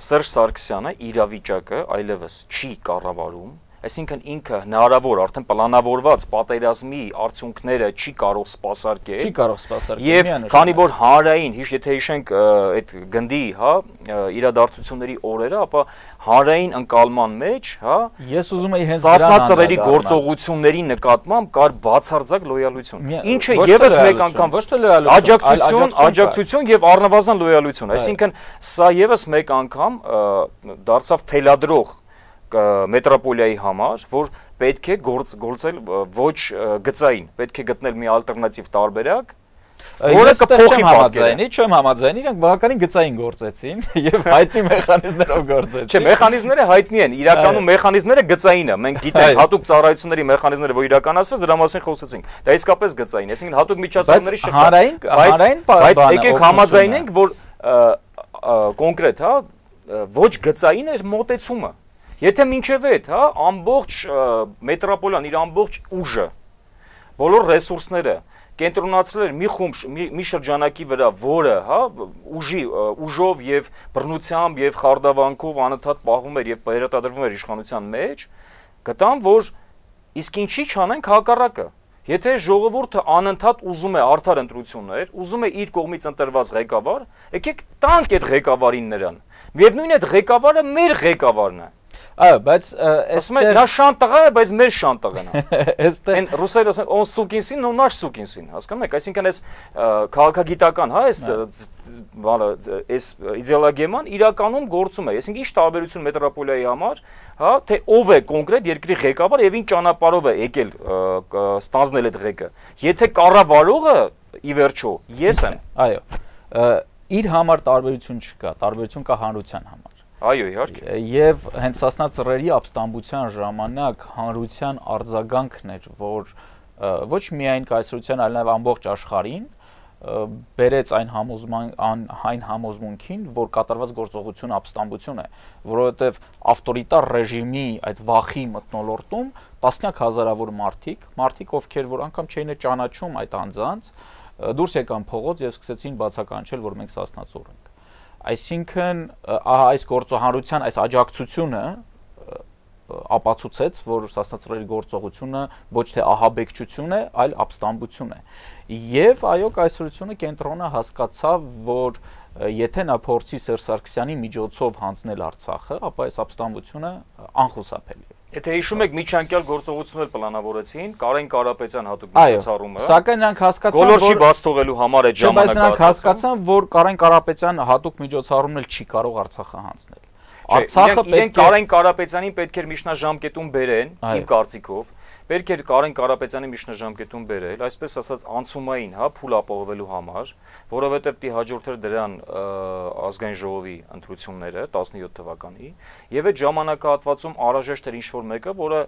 Սերժ Սարգսյանը իրավիճակը այլևս չի կառավարում, այսինքն ինքը հնարավոր արդեն պլանավորված պատերազմի արդյունքները չի կարող սպասարկել։ Չի կարող սպասարկել։ Եվ քանի որ հանրային, եթե հիշենք այդ գնդի, հա, իրադարձությունների օրերը, ապա հանրային ընկալման մեջ, հա, ես ուզում եի հենց սասնածռերի գործողությունների նկատմամբ կար բացարձակ լոյալություն։ Ինչը եւս մեկ անգամ ոչ թե լոյալություն, աջակցություն եւ առնվազն լոյալություն, այսինքն սա եւս մեկ անգամ դարձավ թելադրող մետրոպոլիայի համար, որ պետք է գործել ոչ գծային, պետք է գտնել մի ալտերնատիվ տարբերակ, որը կփոխի պատկերը։ Չեմ համաձայնի, իրենք բավականին գծային գործեցին եւ հայտնի մեխանիզմներով գործեցին։ Չէ, մեխանիզմները հայտնի են, իրականում մեխանիզմները գծային են։ Մենք գիտենք հատուկ ծառայությունների մեխանիզմները, որ իրականացվեց, դրա մասին խոսեցինք։ Դա իսկապես գծային, այսինքն հատուկ միջոցառումների շփում։ Բայց եկեք համաձայնենք, որ կոնկրետ, հա, ոչ գծային էր մոտեցումը։ Եթե մինչև այդ, հա, ամբողջ մետրոպոլիան իր ամբողջ ուժը, բոլոր ռեսուրսները կենտրոնացրել էր մի խումբ, մի շրջանակի վրա, որը, հա, ուժով եւ բռնությամբ եւ խարդավանքով անընդհատ պահվում էր եւ վերարտադրվում էր իշխանության մեջ, գտան, որ իսկ ինչի չանենք հակառակը։ Եթե ժողովուրդը անընդհատ ուզում է արդար ընտրություններ, ուզում է իր կողմից ընտրված ղեկավար, եկեք տանք այդ ղեկավարին նրան։ Միևնույն է, այդ ղեկավարը մեր ղեկավարն է։ Այո, բայց նա շան տղա է, բայց մեր շան տղան է։ Այն ռուսերեն ասեն, on սուկին սին, no նаш սուկին սին, հասկանում եք, այսինքն այս քաղաքագիտական, հա, այս իդեոլոգիան իրականում գործում է, այսինքն ինչ տարբերություն մետրոպոլիայի համար, հա, թե ով է կոնկրետ երկրի ղեկավար եւ ինչ ճանապարհով է եկել ստանձնել այդ ղեկը։ Եթե կառավարողը ի վերջո ես եմ։ Այո։ Իր համար տարբերություն չկա, տարբերություն կա հանրության համար։ Այո, իհարկե։ Եվ հենց Սասնա ծռերի ապստամբության ժամանակ հանրության արձագանքն էր, որ ոչ միայն կայսրության, այլ նաև ամբողջ աշխարհին բերեց այն համոզմունքին, որ կատարված գործողությունը ապստամբություն է, որովհետև ավտորիտար ռեժիմի այդ վախի մթնոլորտում տասնյակ հազարավոր մարդիկ, ովքեր որ անգամ չէին ճանաչում այդ անձանց, դուրս եկան փողոց եւ սկսեցին բացականչել, որ մենք Սասնա ծուռ ենք։ Այսինքն այս գործողանության այս աջակցությունը ապացուցեց, որ Սասնա ծռերի գործողությունը ոչ թե ահաբեկչություն է, այլ ապստամբություն է։ Եվ այո, կայսրությունը կենտրոնը հասկացավ, որ եթե նա փորձի Սերժ Սարգսյանի միջոցով հանձնել Արցախը, ապա այս ապստամբությունը անխուսափելի է։ Եթե հիշում եք, միջանկյալ գործողություններ պլանավորեցին, Կարեն Կարապետյան հատուկ միջոցառումը։ Սակայն նրանք հասկացան, որ գոլորշի բաց թողելու համար այդ ժամանակը նրանք հասկացան, որ Կարեն Կարապետյան հատուկ միջոցառումն էլ չի կարող Արցախը հանձնել։ Արցախը իրենք Կարեն Կարապետյանին պետք էր միջնաժամկետում բերեն, իմ կարծիքով, պետք էր Կարեն Կարապետյանին միջնաժամկետում բերել, այսպես ասած անցումային, հա, փուլ ապահովելու համար, որովհետև պիտի հաջորդեր դրան ազգային ժողովի ընտրությունները 17 թվականի, եւ այդ ժամանակահատվածում անհրաժեշտ էր ինչ-որ մեկը, որը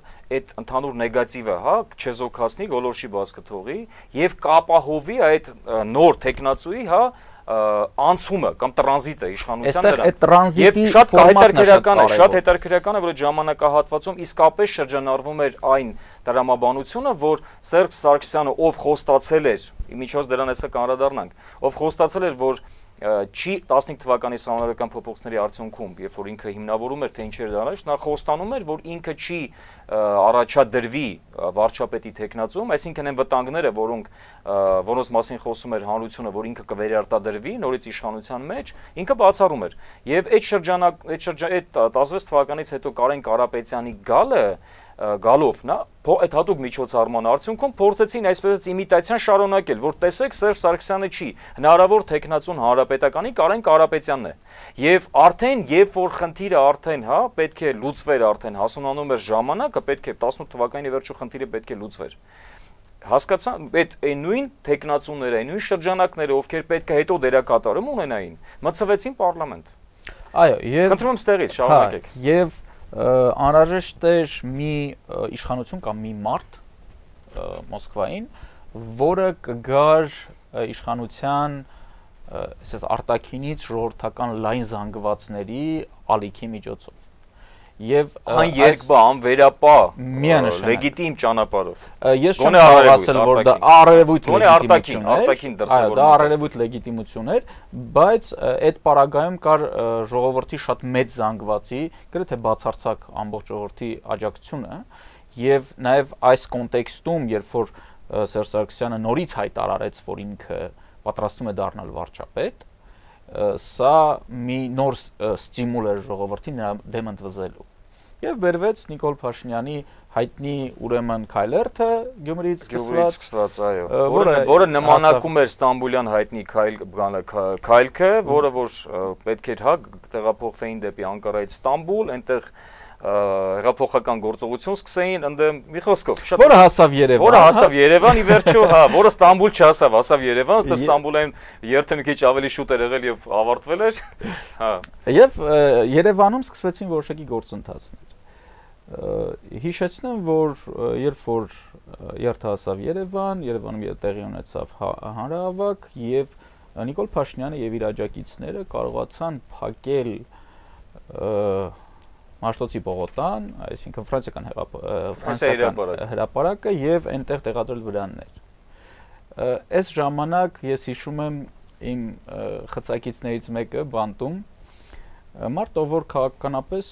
այդ ընդհանուր նեգատիվը, հա, չեզոքացնի, գոլորշի բաց կթողի եւ կապահովի այդ նոր տեխնացուի, հա, անցումը կամ տրանզիտը իշխանության դրան։ Եվ շատ հետաքրքրական է, որ այդ ժամանակահատվածում իսկապես շրջանառվում էր այն տրամաբանությունը, որ Սերժ Սարգսյանը, ով խոստացել էր, միջոց դրան հեսա կանդրադառնանք, ով խոստացել էր, որ չի 15 թվականի սահմանադրական փոփոխությունների արդյունքում, երբ որ ինքը հիմնավորում էր, թե ինչեր դրանից, նա խոստանում էր, որ ինքը չի առաջադրվի վարչապետի տեխնացում, այսինքն այն վտանգները, որոնց մասին խոսում էր հանրությունը, որ ինքը կվերարտադրվի նորից իշխանության մեջ, ինքը բացառում էր։ Եվ այդ 16 թվականից հետո Կարեն Կարապետյանի գալով, այդ հատուկ միջոցառման արդյունքում փորձեցին այսպես իմիտացիան շարունակել, որ տեսեք Սերժ Սարգսյանը չի, հնարավոր տեխնացուն հանրապետականի Կարեն Կարապետյանն է։ Եվ արդեն, երբ որ խնդիրը արդեն, հա, պետք է լուծվեր արդեն, հասունանում էր ժամանակը, պետք է 18 թվականի վերջո խնդիրը պետք է լուծվեր։ Հասկացան, այդ նույն տեխնացուները, այն նույն շրջանակները, ովքեր պետք է հետո դերակատարում ունենային, մտցվեցին պարլամենտ։ Այո, եւ խնդրում եմ ստեղից շարունակեք։ Եվ անհրաժեշտ էր մի իշխանություն կամ մի մարդ Մոսկվային, որը կգար իշխանության այսպես արտաքինից ժողովրդական լայն զանգվածների ալիքի միջոցով։ Եվ այն երկբա անվերապահ լեգիտիմ ճանապարհով։ Ես չեմ կարող ասել, որ դա արևույթ լեգիտիմություն է, արտաքին դրսևորում։ Դա արևույթ լեգիտիմություն էր, բայց այդ պարագայում կար ժողովրդի շատ մեծ զանգվածի, գրեթե բացարձակ ամբողջ ժողովրդի աջակցությունը, եւ նաեւ այս կոնտեքստում, երբ որ Սերժ Սարգսյանը նորից հայտարարեց, որ ինքը պատրաստվում է դառնալ վարչապետ, սա մի նոր ստիմուլ էր ժողովրդին նրա դեմ ընդվզելու։ Եվ բերվեց Նիկոլ Փաշինյանի հայտնի ուրեմն քայլերթը Գյումրիից սկսված, այո, որը նմանակում էր Ստամբուլյան հայտնի քայլքը, որը որ պետք էր, հա, տեղափոխվեին դեպի Անկարայից Ստամբուլ, այնտեղ հեղափոխական գործողություն սկսեին, ընդդեմ մի խոսքով, որը հասավ Երևան։ Որը հասավ Երևան, ի վերջո, հա, որը Ստամբուլ չհասավ, հասավ Երևան, որտեղ Ստամբուլային երթը մի քիչ ավելի շուտ էր եղել եւ ավարտվել էր, հա։ Եվ Երևանում սկսվեցին որոշակի գործընթացներ։ Հիշեցնեմ, որ երբ որ երթը հասավ Երևանում տեղի ունեցավ հանրահավաք եւ Նիկոլ Փաշինյանը եւ իր աջակիցները կարողացան փակել Մաշտոցի Պողոտան, այսինքն ֆրանսիական հրապարակը եւ այնտեղ տեղադրել վրաններ։ Այս ժամանակ ես հիշում եմ իմ խցակիցներից մեկը բանտում մարդ, որ քաղաքականապես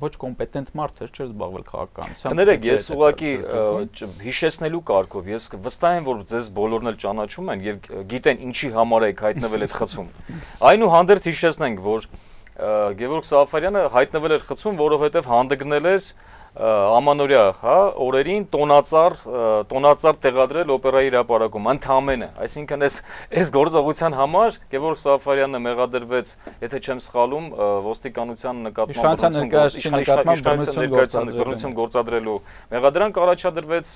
ոչ կոմպետենտ մարդ էր, չէր զբաղվել քաղաքականությամբ։ Կներեք, ես ուղղակի հիշեցնելու կարգով, ես վստահ եմ, որ ձեզ բոլորն էլ ճանաչում են եւ գիտեն ինչի համար եք հայտնվել այդ խցում։ Այնուհանդերձ հիշեցնենք, որ Գևորգ Սաֆարյանը հայտնվել էր խցում, որովհետև հանդգնել էր ամանորյա, հա, օրերին տոնածառ տեղադրել օպերայի հրապարակում, ընդամենը, այսինքն այս գործողության համար Գևորգ Սաֆարյանը մեղադրվեց, եթե չեմ սխալում, ոստիկանության նկատմամբ բռնություն գործադրելու մեղադրանք առաջադրվեց,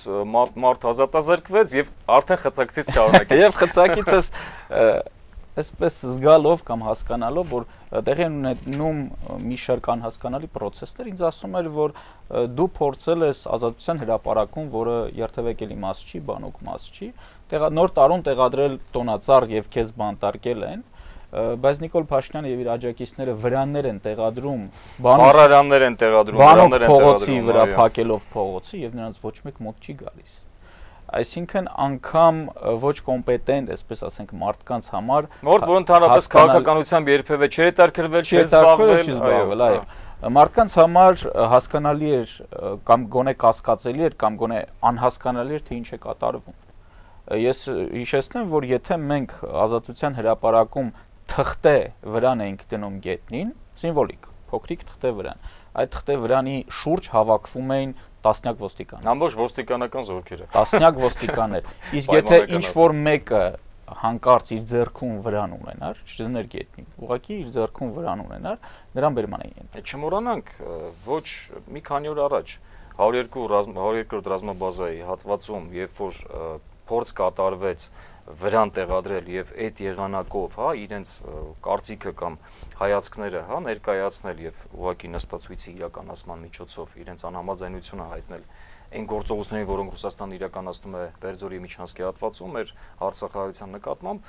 մարդ ազատազրկվեց եւ արդեն խցակցից շարունակեց։ Եվ խցակիցս այսպես զգալով կամ հասկանալով, որ տեղի ունենում մի շարք անհասկանալի process-ներ, ինձ ասում էր, որ դու փորձել ես ազատության հրապարակում, որը երթևեկելի մաս չի, բանուկ մաս չի, նոր տարուն տեղադրել տոնածառ եւ քեզ բանտարկել են, բայց Նիկոլ Փաշինյանը եւ իր աջակիցները վրաններ են տեղադրում, վառարաններ են տեղադրում, վրաններ են տեղադրում, փողոցի վրա փակելով փողոցը եւ նրանց ոչ մեկ մոտ չի գալիս։ Այսինքն անգամ ոչ կոմպետենտ, այսպես ասենք, մարդկանց համար, որ ընդհանրապես քաղաքականությամբ երբևէ չէր հետաքրքրվել, չէր զբաղվել, այո, մարդկանց համար հասկանալի էր կամ գոնե կասկածելի էր կամ գոնե անհասկանալի էր, թե ինչ է կատարվում։ Ես հիշեցնեմ, որ եթե մենք ազատության հրապարակում թղթե վրան էինք դնում գետնին, սիմվոլիկ, փոքրիկ թղթե վրան, այդ թղթե վրանի շուրջ հավաքվում էին տասնյակ ոստիկաններ։ Ամբողջ ոստիկանական զորքերը։ Տասնյակ ոստիկաններ։ Իսկ եթե ինչ-որ մեկը հանկարծ իր ձեռքում վրան ունենար, չդներ գետնին, ուղղակի իր ձեռքում վրան ունենար, նրան բերման էին ենթարկում։ Չմոռանանք, ոչ մի քանի օր առաջ 102 ռազմաբազայի հատվածում, երբ որ փորձ կատարվեց վրան տեղադրել եւ այդ եղանակով, հա, իրենց կարծիքը կամ հայացքները, հա, ներկայացնել եւ ուղղակի նստածույցի իրականացման միջոցով իրենց անհամաձայնությունը հայտնել այն գործողություններին, որոնք Ռուսաստանը իրականացնում է Բերձորի միջանցքի հատվածում, մեր Արցախահայության նկատմամբ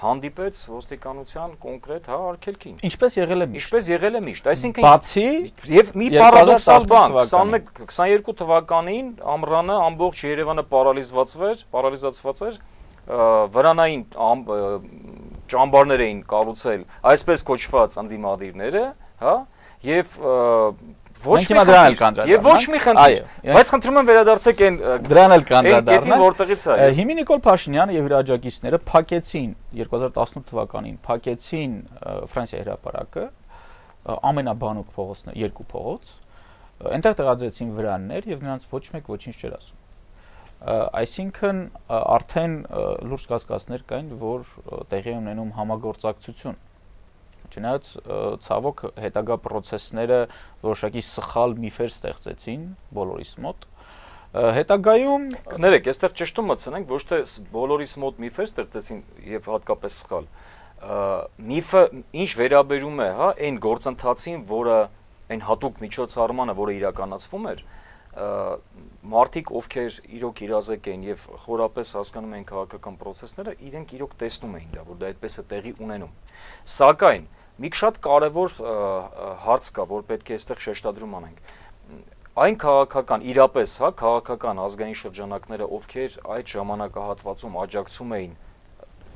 հանդիպեց ոստիկանության կոնկրետ, հա, արգելքին։ Ինչպես եղել է միշտ։ Ինչպես եղել է միշտ, այսինքն բացի եւ մի պարադոքսալ բան, 21-22 թվականին ամռանը ամբողջ Երևանը պարալիզացված էր, վրանային ճամբարներ էին կառուցել այսպես կոչված անդիմադիրները, հա, եւ ոչ մի խնդիր, բայց խնդրում եմ վերադարձեք այն դրան էլ կանդրադառնալ, որտեղից է։ Հիմա Նիկոլ Փաշինյանը եւ իր աջակիցները փակեցին 2018 թվականին փակեցին Ֆրանսիայի հրապարակը, ամենաբանուկ փողոցն է, երկու փողոց, այնտեղ տեղադրեցին վրաններ եւ նրանց ոչ մեկ ոչինչ չէր ասում։ Այսինքն արդեն լուրջ կասկածներ կային, որ տեղի ունենում համագործակցություն։ Չնայած ցավոք հետագա process-ները որոշակի սխալ միֆեր ստեղծեցին բոլորիս մոտ։ Հետագայում կներեք, այստեղ ճշտում մտցնենք, ոչ թե բոլորիս մոտ միֆեր ստեղծեցին եւ հատկապես սխալ։ Միֆը ինչ վերաբերում է, հա, այն գործընթացին, որը այն հատուկ միջոցառմանը, որը իրականացվում էր, մարդիկ, ովքեր իրոք իրազեկ են եւ խորապես հասկանում են քաղաքական process-ները, իրենք իրոք տեսնում էին դա, որ դա այդպես է տեղի ունենում։ Սակայն մի շատ կարևոր հարց կա, որ պետք է այստեղ շեշտադրում անենք։ Այն քաղաքական, իրապես, հա, քաղաքական ազգային շրջանակները, ովքեր այդ ժամանակահատվածում աջակցում էին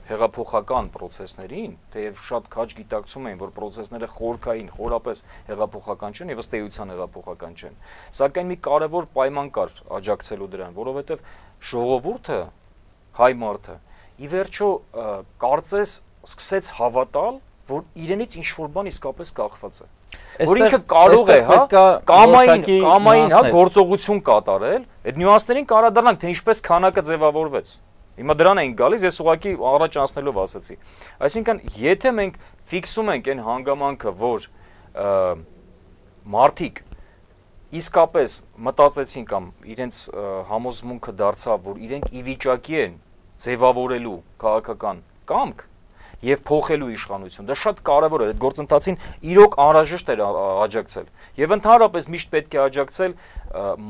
հեղափոխական process-ներին, թեև շատ քաջ գիտակցում էին, որ process-ները խորքային, խորապես հեղափոխական չեն եւ ըստ էության հեղափոխական չեն։ Սակայն մի կարևոր պայման կար աջակցելու դրան, որովհետեւ ժողովուրդը, հայ մարդը, ի վերջո կարծես սկսեց հավատալ, որ իրենից ինչ-որ բան իսկապես կախված է։ Որ ինքը կարող է, հա, կամային, հա, գործողություն կատարել, այդ նյուանսներին կարադառնանք, թե ինչպես քանակը ձևավորվեց։ Հիմա դրան ենք գալիս, ես ուղղակի առաջ անցնելով ասացի։ Այսինքն, եթե մենք ֆիքսում ենք այն հանգամանքը, որ մարդիկ իսկապես մտածեցին կամ իրենց համոզմունքը դարձավ, որ իրենք ի վիճակի են ձևավորելու քաղաքական կամք եւ փոխելու իշխանություն, դա շատ կարեւոր է, այդ գործընթացին իրոք անհրաժեշտ էր աջակցել։ Եվ ընդհանրապես միշտ պետք է աջակցել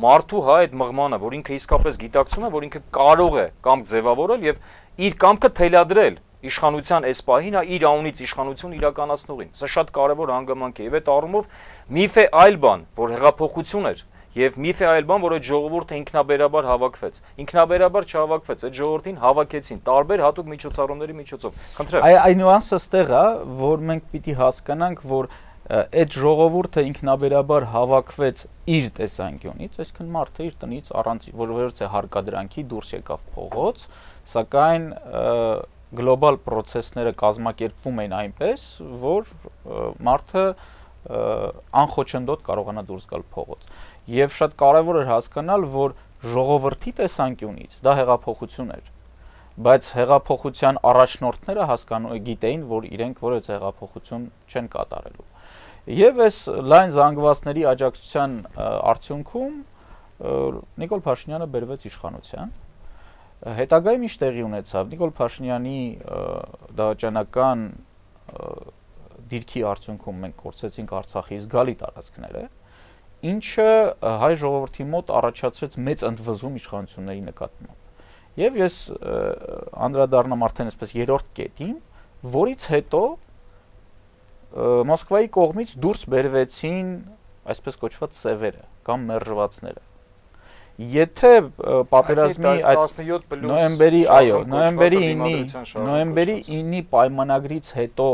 մարդու, հա, այդ մղմանը, որ ինքը իսկապես գիտակցում է, որ ինքը կարող է կամք ձևավորել եւ իր կամքը թելադրել իշխանության այս պահին, հա, իր անունից իշխանություն իրականացնողին։ Սա շատ կարեւոր հանգամանք է եւ այդ առումով միֆ է այլ բան, որ հեղափոխություն էր եւ միֆ է այլ բան, որ այդ ժողովուրդը ինքնաբերաբար հավաքվեց։ Ինքնաբերաբար չհավաքվեց, այդ ժողովրդին հավաքեցին տարբեր հատուկ միջոցառումների միջոցով։ Խնդրեմ։ Այն նյուանսը ստեղ է, որ մենք պիտի հասկանանք, որ այդ ժողովուրդը ինքնաբերաբար հավաքվեց իր տեսանկյունից, այսինքն մարդը իր տնից առանց որևէ հարկադրանքի դուրս եկավ փողոց, սակայն գլոբալ process-ները կազմակերպվում են այնպես, որ մարդը անխոչնդոտ կարողանա դուրս գալ փողոց։ եւ շատ կարեւոր էր հասկանալ, որ ժողովրդի տեսանկյունից դա հեղափոխություն էր, բայց հեղափոխության առաջնորդները գիտեին, որ իրենք որևէ հեղափոխություն չեն կատարելու։ Եվ այս լայն զանգվածների աջակցության արդյունքում Նիկոլ Փաշինյանը բերվեց իշխանության։ Հետագայում ինչ տեղի ունեցավ։ Նիկոլ Փաշինյանի դավաճանական դիրքի արդյունքում մենք կորցրեցինք Արցախի զգալի տարածքները, ինչը հայ ժողովրդի մոտ առաջացրեց մեծ ընդվզում իշխանությունների նկատմամբ։ Եվ ես անդրադառնամ արդեն այսպես երրորդ կետին, որից հետո Մոսկվայի կողմից դուրս բերվեցին այսպես կոչված սևերը կամ մերժվածները։ Եթե պատերազմի այդ նոյեմբերի 9-ի պայմանագրից հետո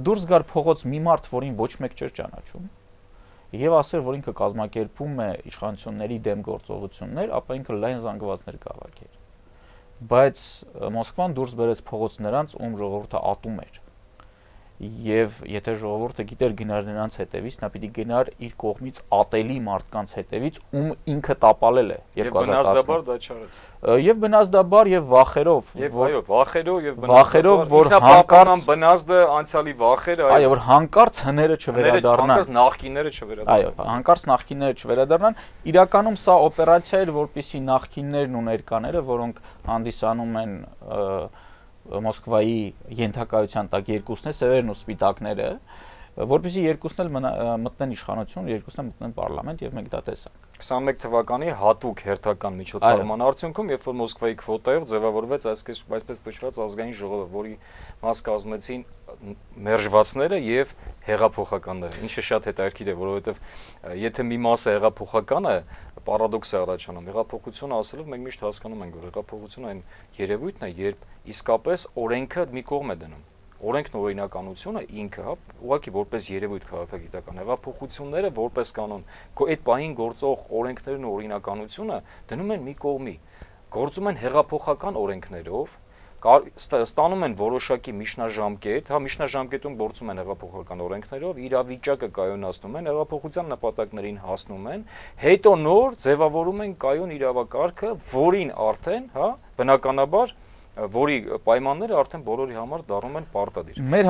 դուրս գար փողոց մի մարդ, որին ոչ մեկ չէր ճանաչում, եւ ասեր, որ ինքը կազմակերպում է իշխանությունների դեմ գործողություններ, ապա ինքը լայն զանգվածներ կավաքեր։ Բայց Մոսկվան դուրս բերեց փողոց նրանց, ում ժողովուրդը ատում էր։ Եվ եթե ժողովուրդը գիտեր գնար նրանց հետևից, նա պիտի գնար իր կողմից ատելի մարդկանց հետևից, ում ինքը տապալել է 2010-աբար դա չարեց։ Եվ բնազդաբար եւ վախերով, եւ այո, վախերով, որ հանկարծ բնազդը անցյալի վախերը, այո, որ հանկարծ հները չվերադառնան, հանկարծ նախկինները չվերադառնան։ Այո, հանկարծ նախկինները չվերադառնան։ Իրականում սա օպերացիա էր, որպեսզի նախկիններն ու ներկաները, որոնք հանդիսանում են Մոսկվայի ենթակայության տակ երկուսն է, սևերն ու սպիտակները, որպեսզի երկուսն էլ մտնեն իշխանություն, երկուսն էլ մտնեն պարլամենտ եւ մենք դա տեսանք։ 21 թվականի հատուկ հերթական միջոցառման արդյունքում, երբ որ Մոսկվայի քվոտայով ձևավորվեց այսպես կոչված ազգային ժողովը, որի մաս կազմեցին մերժվածները եւ հեղափոխականները, ինչը շատ հետաքրքիր է, որովհետեւ եթե մի մասը հեղափոխական է, պարադոքս է առաջանում։ Հեղափոխությունը ասելով մենք միշտ հասկանում ենք, որ հեղափոխությունը այն երևույթն է, երբ իսկապես օրենքը մի կողմ է դնում։ Օրենքն օրինականությունը ինքը, հա, ուղղակի որպես երևույթ քաղաքագիտական, հեղափոխությունները որպես կանոն, այդ պահին գործող օրենքներն ու օրինականությունը դնում են մի կողմի, գործում են հեղափոխական օրենքներով, ստանում են որոշակի միջնաժամկետ, հա, միջնաժամկետում գործում են հեղափոխական օրենքներով, իրավիճակը կայունացնում են, հեղափոխության նպատակներին հասնում են, հետո նոր ձևավորում են կայուն իրավակարգը, որին արդեն, հա, բնականաբար որի պայմանները արդեն բոլորի համար դառնում են պարտադիր։ Մեր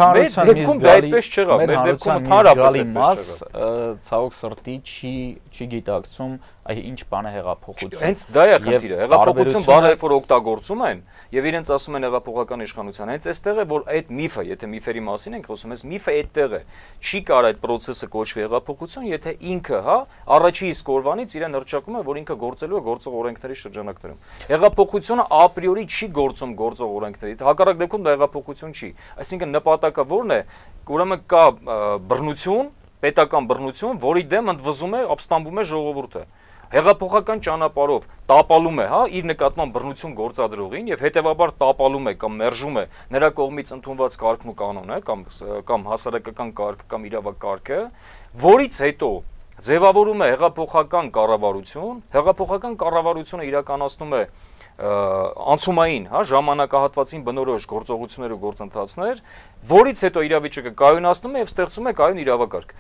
դեպքում դա այդպես չեղավ, մեր դեպքում ընդհանրապես այդպես չեղավ։ Ցավոք սրտի չի գիտակցում ինչ բան է հեղափոխություն։ Հենց դա է խնդիրը։ Հեղափոխություն բառը երբ որ օգտագործում են եւ իրենց ասում են հեղափոխական իշխանության, հենց այստեղ է որ այդ միֆը, եթե միֆերի մասին ենք խոսում, այս միֆը այդտեղ է։ Չի կարող այդ process-ը կոչվի հեղափոխություն, եթե ինքը, հա, առաջի իսկ օրվանից իրեն հրճակում է, որ ինքը գործելու է գործող օրենքների շրջանակներում։ Հեղափոխությունը ապրիորի չի գործում գործող օրենքների։ Հակառակ դեպքում դա հեղափոխություն չի։ Այսինքն նպատակը ո՞րն է։ Ուրեմն կա բռնություն, պետական բռնություն, որի դեմ ընդվզում է, ապստամբում է ժողովուրդը։ Հեղափոխական ճանապարհով տապալում է, հա, իր նկատմամբ բռնություն գործադրողին եւ հետեւաբար տապալում է կամ մերժում է նրա կողմից ընդունված կարգն ու կանոնը կամ հասարակական կարգը կամ իրավակարգը, որից հետո ձևավորում է հեղափոխական կառավարություն, հեղափոխական կառավարությունը իրականացնում է անցումային, հա, ժամանակահատվածին բնորոշ գործողություններ ու գործընթացներ, որից հետո իրավիճակը կայունացնում է եւ ստեղծում է կայուն իրավակարգ։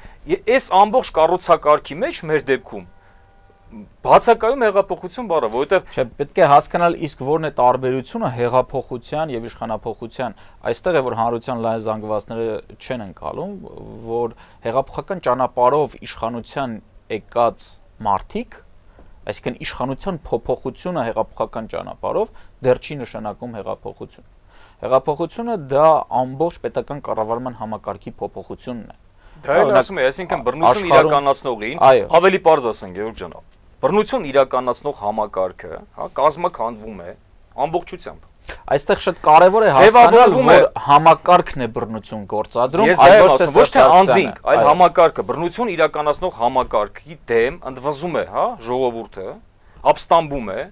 Այս ամբողջ կառուցակարգի մեջ մեր դեպքում բացակայում հեղափոխություն բառը, որովհետև պետք է հասկանալ իսկ որն է տարբերությունը հեղափոխության եւ իշխանափոխության։ Այստեղ է որ հանրության լայն զանգվածները չեն ընկալում, որ հեղափոխական ճանապարհով իշխանության եկած մարդիկ, այսինքն իշխանության փոփոխությունը հեղափոխական ճանապարհով դեռ չի նշանակում հեղափոխություն։ Հեղափոխությունը դա ամբողջ պետական կառավարման համակարգի փոփոխությունն է։ Դա էլ ասում է, այսինքն բռնություն իրականացնողին, ավելի պարզ ասենք, Գևորգ ջան, բռնություն իրականացնող համակարգը, հա, կազմաքանդվում է ամբողջությամբ։ Այստեղ շատ կարևոր է հասկանալ, որ համակարգն է բռնություն գործադրում, ոչ թե անձինք, այլ համակարգը, բռնություն իրականացնող համակարգի դեմ ընդվզում է, հա, ժողովուրդը, ապստամբում է,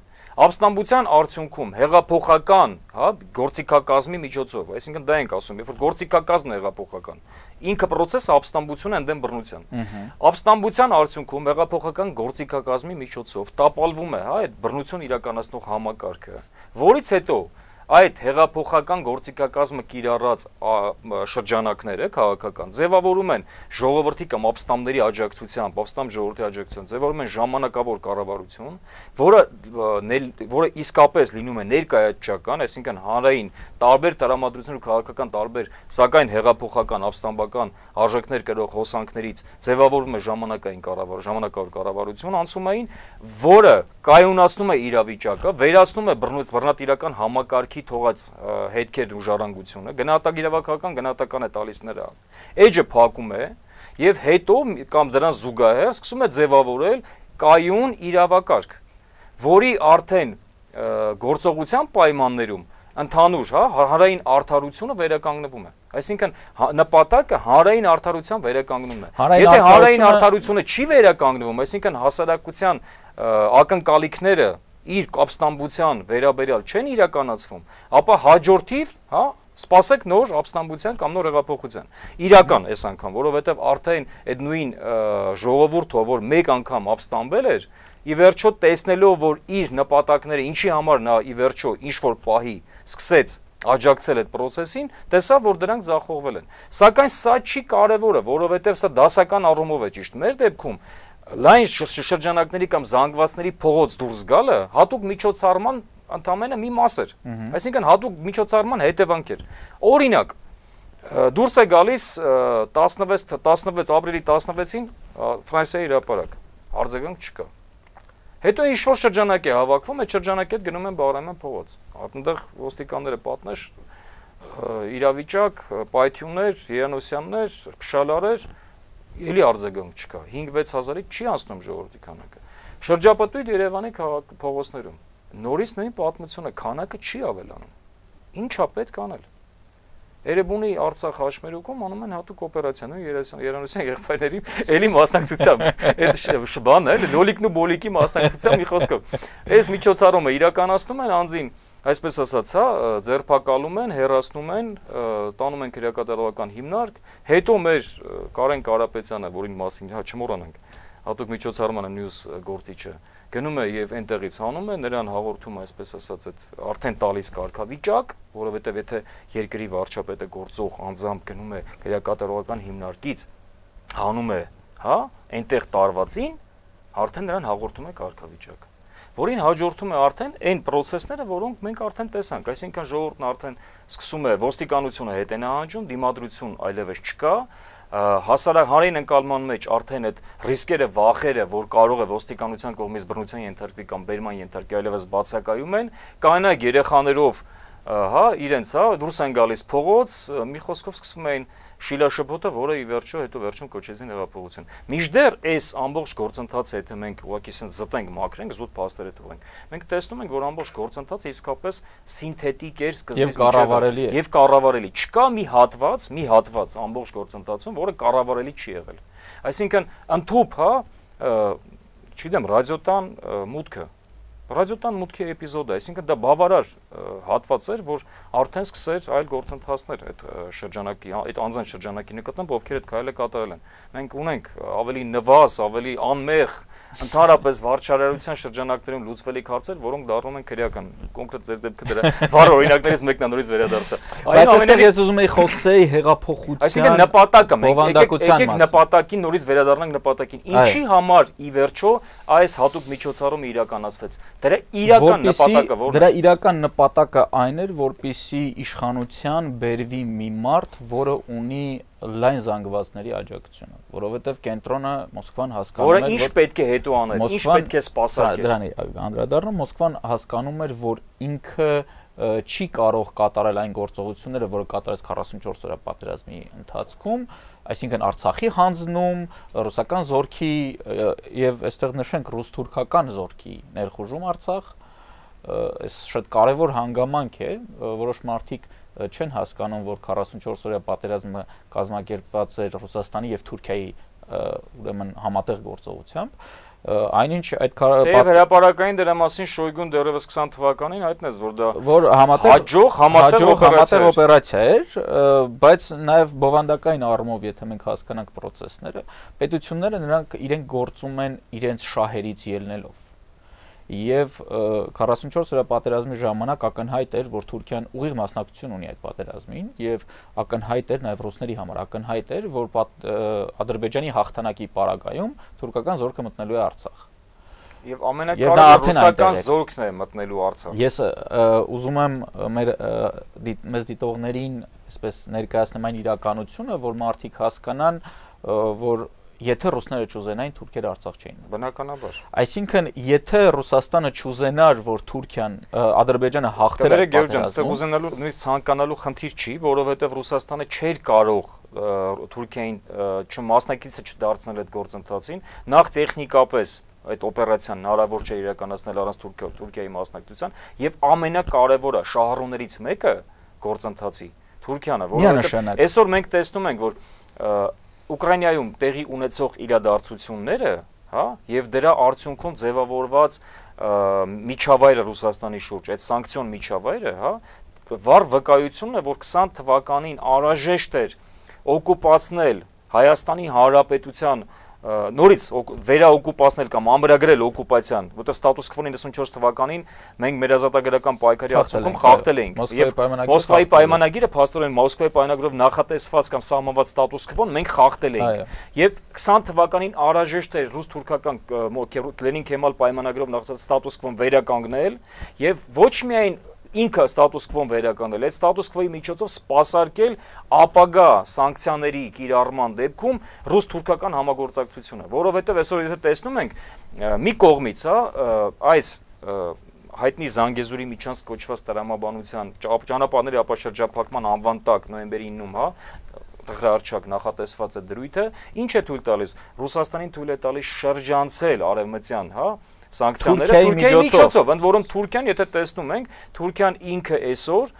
ապստամբության արդյունքում հեղափոխական, հա, գործիքակազմի միջոցով, այսինքն դա ենք ասում, երբ որ գործիքակազմն է հեղափոխական, ինքը process-ը ապստամբություն է ընդդեմ բռնության։ Ապստամբության արդյունքում հեղափոխական գործիքակազմի միջոցով տապալվում է, հա, այդ բռնություն իրականացնող համակարգը, որից հետո այդ հեղափոխական գործիքակազմը կիրառած շրջանակները քաղաքական ձևավորում են ժողովրդի կամ ապստամբների աջակցությամբ, ապստամբ ժողովրդի աջակցությամբ ձևավորում են ժամանակավոր կառավարություն, որը իսկապես լինում է ներկայացչական, այսինքն հանրային տարբեր տրամադրություններ ու քաղաքական տարբեր, սակայն հեղափոխական, ապստամբական արժեքներ կրող հոսանքներից ձևավորում է ժամանակավոր կառավարություն անցումային, որը կայունացնում է իրավիճակը, վերացնում է բռնատիրական համակարգի թողած հետքեր ու ժառանգությունը, գնահատագիրավական գնահատական է տալիս նրան, էջը փակում է եւ հետո կամ դրան զուգահեռ սկսում է ձևավորել կայուն իրավակարգ, որի արդեն գործողության պայմաններում ընդհանուր հանրային արդարությունը վերականգնվում է, այսինքն նպատակը հանրային արդարության վերականգնումն է, եթե հանրային արդարությունը չի վերականգնվում, այսինքն հասարակության ակնկալիքները իր ապստամբության վերաբերյալ չեն իրականացվում, ապա հաջորդիվ, սպասեք նոր ապստամբության կամ նոր հեղափոխության։ Իրական այս անգամ, որովհետև արդեն այդ նույն ժողովուրդը, որ մեկ անգամ ապստամբել էր, ի վերջո տեսնելով, որ իր նպատակները ինչի համար նա ի վերջո ինչ-որ պահի սկսեց աջակցել այդ process-ին, տեսավ, որ դրանք ձախողվել են։ Սակայն սա չի կարևորը, որովհետև սա դասական առումով է ճիշտ։ Մեր դեպքում լայն շրջանակների կամ զանգվածների փողոց դուրս գալը հատուկ միջոցառման ընդամենը մի մաս էր, այսինքն հատուկ միջոցառման հետևանք էր։ Օրինակ, դուրս է գալիս 16 ապրիլի 16-ին Ֆրանսիայի հրապարակ, արձագանք չկա։ Հետո ինչ-որ շրջանակ է հավաքվում, այդ շրջանակի հետ գնում են Բաղրամյան փողոց, այնտեղ ոստիկանները պատնեշ, իրավիճակ, պայթյուններ, Երանոսյաններ, փշալարեր, էլի արձագանք չկա, 5-6 հազարի չի անցնում ժողովրդի քանակը։ Շրջապատույտ Երևանի փողոցներում նորից նույն պատմությունը, քանակը չի ավելանում։ Ինչ է պետք անել։ Էրեբունի Արցախ հաշմերուկում անում են հատուկ օպերացիա, Երանոսյան եղբայրների էլի մասնակցությամբ, այդ բանն է, լոլիկն ու բոլիկի մասնակցությամբ մի խոսքով։ Այս միջոցառումը իրականացնում են անձին, այսպես ասած, ձերբակալում են, հեռացնում են, տանում են քրեակատարողական հիմնարկ, հետո մեր Կարեն Կարապետյանը, որին մասին չմոռանանք, հատուկ միջոցառմանը մյուս գործիչը գնում է եւ այնտեղից հանում է, նրան հաղորդում է, այսպես ասած, այդ արդեն տալիս կարգավիճակ, որովհետեւ եթե երկրի վարչապետը գործող անձամբ գնում է քրեակատարողական հիմնարկից, հանում է, այնտեղ տարվածին, արդեն նրան հաղորդում է կարգավիճակ, որին հաջորդում է արդեն այն process-ները, որոնք մենք արդեն տեսանք, այսինքն ժողովուրդն արդեն սկսում է ոստիկանությունը հետ է նահանջում, դիմադրություն այլևս չկա, հասարակային ընկալման մեջ արդեն այդ ռիսկերը, վախերը, որ կարող է ոստիկանության կողմից բռնության ենթարկվի կամ բերման ենթարկվի, այլևս բացակայում են, կանայք երեխաներով իրենց դուրս են գալիս փողոց, մի խոսքով սկսվում էին շիլաշփոթը, որը ի վերջո հետո վերջում կոչեցին հեղափոխություն։ Մինչդեռ այս ամբողջ գործընթացը, եթե մենք ուղղակի զտենք, մաքրենք, զուտ փաստերը թողենք, մենք տեսնում ենք, որ ամբողջ գործընթացը իսկապես սինթետիկ էր, սկզբից եւ կառավարելի։ Չկա մի հատված ամբողջ գործընթացում, որը կառավարելի չի եղել։ Այսինքն ընդհուպ, չգիտեմ, ռադիոտան մուտքը Ռադիոտան մուտքի էպիզոդը, այսինքն դա բավարար հատված էր, որ արդեն սկսեր այլ գործընթացներ այդ շրջանակի, այդ անձանց շրջանակի նկատմամբ, ովքեր այդ քայլը կատարել են։ Մենք ունենք ավելի նվազ, ավելի անմեղ, ընդհանրապես վարչարարության շրջանակներում լուծվելիք հարցեր, որոնք դառնում են քրեական։ Կոնկրետ ձեր դեպքը դրա վառ օրինակներից մեկն է նորից վերադարձա։ Այնուամենայնիվ ես ուզում եի խոսեի հեղափոխության, այսինքն նպատակը, մենք եկեք նպատակին նորից վերադառնանք նպատակին։ Ինչի համար ի վերջո այս հատուկ միջոցառումը իրականացվեց։ Դրա իրական նպատակը ո՞րն է։ Դրա իրական նպատակը այն էր, որպեսզի իշխանության բերվի մի մարդ, որը ունի լայն զանգվածների աջակցությունը, որովհետև կենտրոնը Մոսկվան հասկանում էր, որը ինչ պետք է հետո աներ, ինչ պետք է սպասարկեր։ Դրանի անդրադառնում Մոսկվան հասկանում էր, որ ինքը չի կարող կատարել այն գործողությունները, որը կատարեց 44 օրյա պատերազմի ընթացքում, այսինքն Արցախի հանձնում, ռուսական զորքի եւ այստեղ նշենք ռուս-թուրքական զորքի ներխուժում Արցախ, այս շատ կարևոր հանգամանք է, որոշ մարդիկ չեն հասկանում, որ 44 օրյա պատերազմը կազմակերպված էր Ռուսաստանի եւ Թուրքիայի ուրեմն համատեղ գործողությամբ, այնինչ այդ հրապարակային դրա մասին Շոյգուն դեռևս 20 թվականին հայտնեց, որ դա համատեղ օպերացիա էր, բայց նաև բովանդակային առումով, եթե մենք հասկանանք process-ները, պետությունները նրանք իրենք գործում են իրենց շահերից ելնելով։ եւ 44 օրյա պատերազմի ժամանակ ակնհայտ էր, որ Թուրքիան ուղիղ մասնակցություն ունի այդ պատերազմին եւ ակնհայտ էր նաեւ ռուսների համար ակնհայտ էր, որ Ադրբեջանի հաղթանակի պարագայում թուրքական զորքը մտնելու է Արցախ։ Եվ ամենակարևորը ռուսական զորքն է մտնելու Արցախ։ Ես ուզում եմ մեզ դիտողներին այսպես ներկայացնեմ այն իրականությունը, որ մարդիկ հասկանան, որ եթե ռուսները չուզենային, թուրքերը Արցախ չէին։ Բնականաբար։ Այսինքն, եթե Ռուսաստանը չուզենար, որ Թուրքիան, Ադրբեջանը հաղթեր այդ պատերազմում, ուզենալու նույնիսկ ցանկանալու խնդիր չի, որովհետև Ռուսաստանը չէր կարող Թուրքիային չմասնակիցը չդարձնել այդ գործընթացին, նախ տեխնիկապես այդ օպերացիան հնարավոր չէ իրականացնել առանց Թուրքիայի մասնակցության, եւ ամենակարևորը շահառուներից մեկը գործընթացի Թուրքիան է, որովհետեւ այսօր մենք տեսնում ենք, որ Ուկրաինայում տեղի ունեցող իրադարձությունները, հա, եւ դրա արդյունքում ձևավորված միջավայրը Ռուսաստանի շուրջ, այդ սանկցիոն միջավայրը, հա, վառ վկայությունն է, որ 20 թվականին անհրաժեշտ էր օկուպացնել Հայաստանի Հանրապետության նորից վերաօկուպացնել կամ ամրագրել օկուպացիան, որտեղ ստատուս քվոն 94 թվականին մենք մեր ազատագրական պայքարի արդյունքում խախտել էինք եւ Մոսկվայի պայմանագիրը փաստորեն Մոսկվայի պայմանագրով նախատեսված կամ սահմանված ստատուս քվոն մենք խախտել էինք եւ 20 թվականին անհրաժեշտ էր ռուս-թուրքական Լենին-Քեմալ պայմանագրով նախատեսված ստատուս քվոն վերականգնել եւ ոչ միայն ինքը ստատուս քվոն վերականգնել, այդ ստատուս քվոյի միջոցով սպասարկել ապագա սանկցիաների կիրառման դեպքում ռուս-թուրքական համագործակցությունը, որովհետև այսօր եթե տեսնում ենք մի կողմից, հա, այս հայտնի Զանգեզուրի միջանցք կոչված տրամաբանության ճանապարհների ապաշրջափակման անվան տակ նոյեմբերի 9-ում, հա, տղրարչակ նախատեսված է դրույթը, ինչ է թույլ տալիս, Ռուսաստանին թույլ է տալիս շրջանցել արևմտյան, հա, սանկցիաները Թուրքիայի միջոցով, ընդ որում Թուրքիան, եթե տեսնում ենք, Թուրքիան ինքը այսօր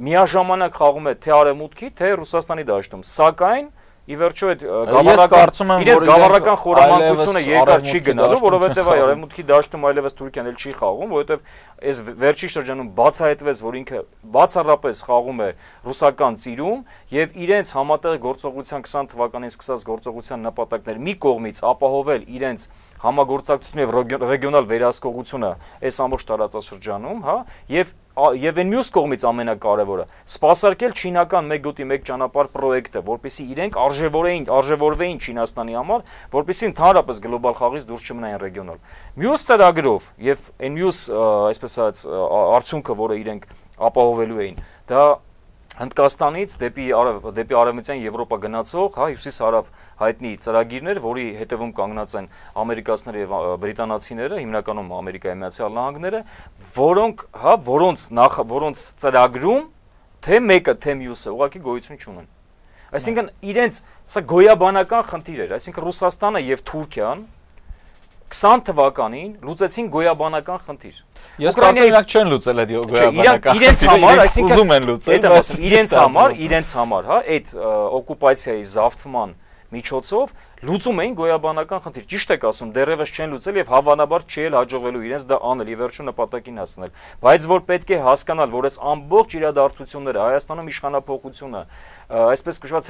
միաժամանակ խաղում է թե արևմուտքի, թե Ռուսաստանի դաշտում, սակայն ի վերջո այդ գավառական խորամանկությունը երկար չի գնալու, որովհետև այ արևմուտքի դաշտում այլևս Թուրքիան էլ չի խաղում, որովհետև այս վերջի շրջանում բացահայտվեց, որ ինքը բացառապես խաղում է ռուսական ծիրում եւ իրենց համատեղ գործողության 20 թվականին սկսած գործողության նպատակներ մի կողմից ապահովել իրենց համագործակցությունը եւ ռեգիոնալ վերահսկողությունը այս ամբողջ տարածաշրջանում, հա, եւ այն մյուս կողմից ամենակարևորը սպասարկել չինական 1 գոտի 1 ճանապարհ պրոյեկտը, որպեսզի իրենք արժևորվեին Չինաստանի համար, որպեսզի ընդհանրապես գլոբալ խաղից դուրս չմնային ռեգիոնալ։ Մյուս ծրագրով եւ այն մյուս, այսպես ասած, արդյունքը, որը իրենք ապահովելու էին, դա Հնդկաստանից դեպի արևմտյան Եվրոպա գնացող, հա, հյուսիս-հարավ հայտնի ծրագիրներ, որի հետևում կանգնած են ամերիկացիները եւ բրիտանացիները, հիմնականում Ամերիկայի Միացյալ Նահանգները, որոնց ծրագրում թե մեկը, թե մյուսը ուղղակի գոյություն չունեն։ Այսինքն իրենց սա գոյաբանական խնդիր էր, այսինքն Ռուսաստանը եւ Թուրքիան 20 թվականին լուծեցին գոյաբանական խնդիր։ Ես կարծում եմ չեն լուծել այդ գոյաբանական խնդիրը։ Իրենց համար, այսինքն ուզում են լուծել, իրենց համար, հա, այդ օկուպացիայի զավթման միջոցով լուծում էին գոյաբանական խնդիր։ Ճիշտ եք ասում, դեռևս չեն լուծել եւ հավանաբար չի էլ հաջողվելու իրենց դա անել եւ վերջում նպատակին հասնել։ Բայց որ պետք է հասկանալ, որ այս ամբողջ իրադարձությունները Հայաստանում իշխանափոխությունը, այսպես կոչված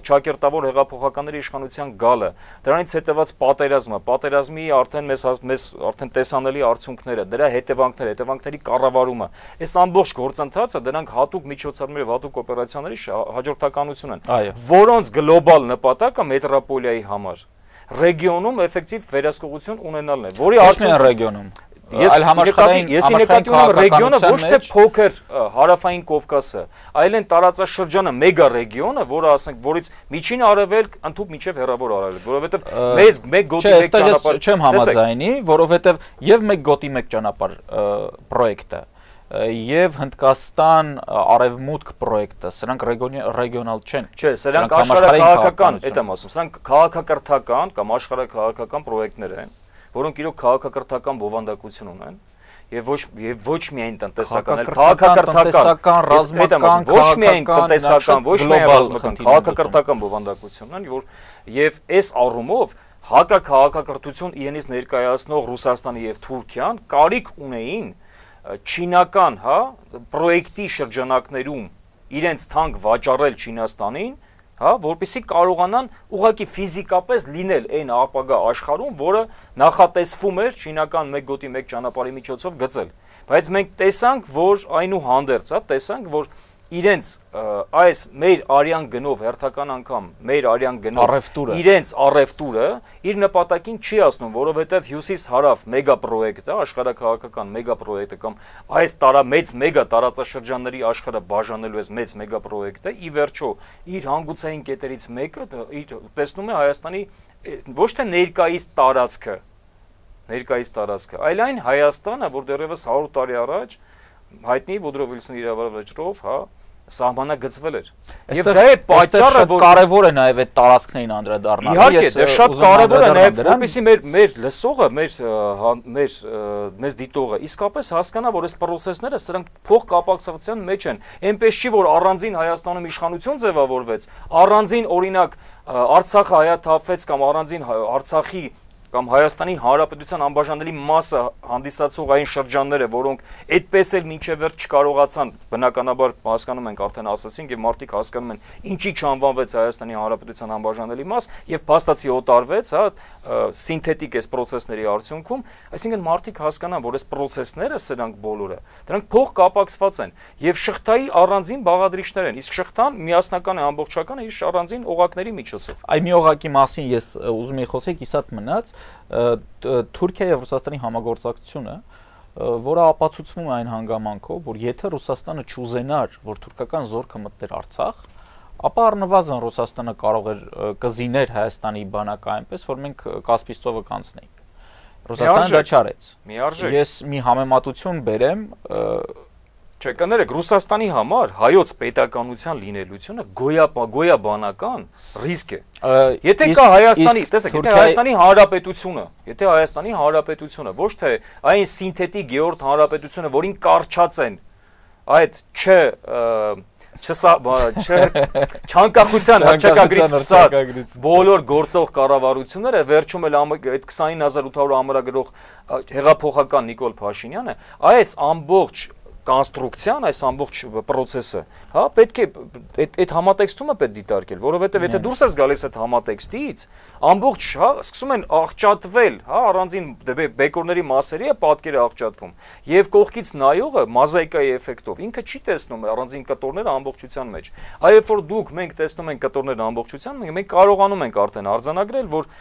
ճակերտավոր հեղափոխականների իշխանության գալը, դրանից հետևած պատերազմի արդեն տեսանելի արդյունքները, դրա հետևանքների կառավարումը, այս ամբողջ գործընթացը դրանք հատուկ միջոցառումների եւ հատուկ օպերացիաների հաջորդականություն են, որոնց գլոբալ նպատակը մետրոպոլիայի համար ռեգիոնում էֆեկտիվ վերահսկողություն ունենալն է, որի արդյունքում ռեգիոնում Ես նկատի ունեմ ռեգիոնը ոչ թե փոքր հարավային Կովկասը, այլ են տարածաշրջանը մեգա ռեգիոնը, որը ասենք, որից միջին արևելք ընդհանուր մինչև հեռավոր արևելք, որովհետև մեկ գոտի մեկ ճանապարհ չեմ համաձայնի, որովհետև եւ մեկ գոտի մեկ ճանապարհ պրոյեկտը եւ Հնդկաստան արևմուտք պրոյեկտը, սրանք ռեգիոնալ չեն։ Չէ, սրանք աշխարհաքաղաքական, այդ եմ ասում, սրանք քաղաքակրթական կամ աշխարհաքաղաքական պրոյեկտներ են, որոնք իրոք քաղաքակրթական բովանդակություն ունեն եւ ոչ միայն տնտեսական, այլ քաղաքակրթական, ռազմական, ոչ միայն տնտեսական, ոչ միայն ռազմական, քաղաքակրթական բովանդակություն ունեն, եւ այս առումով հակաքաղաքակրթություն իրենից ներկայացնող Ռուսաստանը եւ Թուրքիան կարիք ունեին չինական, հա, պրոյեկտի շրջանակներում իրենց թանկ վաճառել Չինաստանին հա, որպեսզի կարողանան ուղղակի ֆիզիկապես լինել այն ապագա աշխարհում, որը նախատեսվում էր չինական 1 գոտի 1 ճանապարհի միջոցով գծել։ Բայց մենք տեսանք, որ այնուհանդերձ, հա, տեսանք, որ իրենց այս մեր արյան գնով հերթական անգամ մեր արյան գնով իրենց առևտուրը իր նպատակին չի հասնում, որովհետև հյուսիս-հարավ մեգա պրոյեկտը, աշխարհաքաղաքական մեգա պրոյեկտը կամ այս մեծ մեգա տարածաշրջանների աշխարհը բաժանելու այս մեծ մեգա պրոյեկտը ի վերջո իր հանգուցային կետերից մեկը տեսնում է Հայաստանի ոչ թե ներկայիս տարածքը, այլ այն Հայաստանը, որ դեռևս 100 տարի առաջ հայտնի Վուդրո Վիլսոնի իրավարվեջրով, հա, սահմանագծվել էր։ Եվ դա է պատճառը, որ կարևոր է նաև այդ տարածքներին անդրադառնալը։ Իհարկե, դա շատ կարևոր է նաև, որպեսզի մեր լսողը, մեզ դիտողը իսկապես հասկանա, որ այս պրոցեսները սրանք փոխկապակցության մեջ են։ Էնպես չի, որ առանձին Հայաստանում իշխանություն ձևավորվեց, առանձին օրինակ Արցախը հայաթափվեց կամ առանձին Արցախի կամ Հայաստանի Հանրապետության անբաժանելի մասը հանդիսացող այն շրջանները, որոնք այդպես էլ մինչև վերջ չկարողացան, բնականաբար հասկանում ենք, արդեն ասացինք եւ մարդիկ հասկանում են, ինչի չանվանվեց Հայաստանի Հանրապետության անբաժանելի մաս եւ փաստացի օտարվեց, հա, սինթետիկ այս process-ների արդյունքում, այսինքն մարդիկ հասկանան, որ այս process-ները սրանք բոլորը, դրանք փոխկապակցված են եւ շղթայի առանձին բաղադրիչներ են, իսկ շղթան միասնական է, ամբողջական է, իսկ առանձին օղակների միջոցով։ Այ մի օղակի մասին ես ուզում եի խոսել, կիսատ մնաց Թուրքիա եւ Ռուսաստանի համագործակցությունը, որը ապացուցվում է այն հանգամանքով, որ եթե Ռուսաստանը չուզենար, որ թուրքական զորքը մտներ Արցախ, ապա առնվազն Ռուսաստանը կարող էր կզիներ Հայաստանի բանակը այնպես, որ մենք Կասպից ծովը կանցնեինք։ Ռուսաստանը դա չարեց։ Ես մի համեմատություն բերեմ, Չէ, կներեք, Ռուսաստանի համար հայոց պետականության լինելությունը գոյաբանական ռիսկ է։ Եթե կա Հայաստանի, տեսեք, եթե Հայաստանի Հանրապետությունը, ոչ թե այն սինթետիկ երրորդ հանրապետությունը, որին կարճած են այդ չանկախության հռչակագրից սկսած բոլոր գործող կառավարությունները, վերջում էլ այդ 29800 ամրագրող հեղափոխական Նիկոլ Փաշինյանը, այս ամբողջ կոնստրուկցիան, այս ամբողջ process-ը, հա, պետք է այդ համատեքստումը պետք դիտարկել, որովհետև եթե դուրս ես գալիս այդ համատեքստից, ամբողջ, հա, սկսում են աղճատվել, հա, առանձին բեկորների մասերի է պատկերը աղճատվում, եւ կողքից նայողը մոզաիկայի էֆեկտով ինքը չի տեսնում առանձին կտորները ամբողջության մեջ։ Այ երբ որ մենք տեսնում ենք կտորները ամբողջության, մենք կարողանում ենք արդեն արձանագրել, որ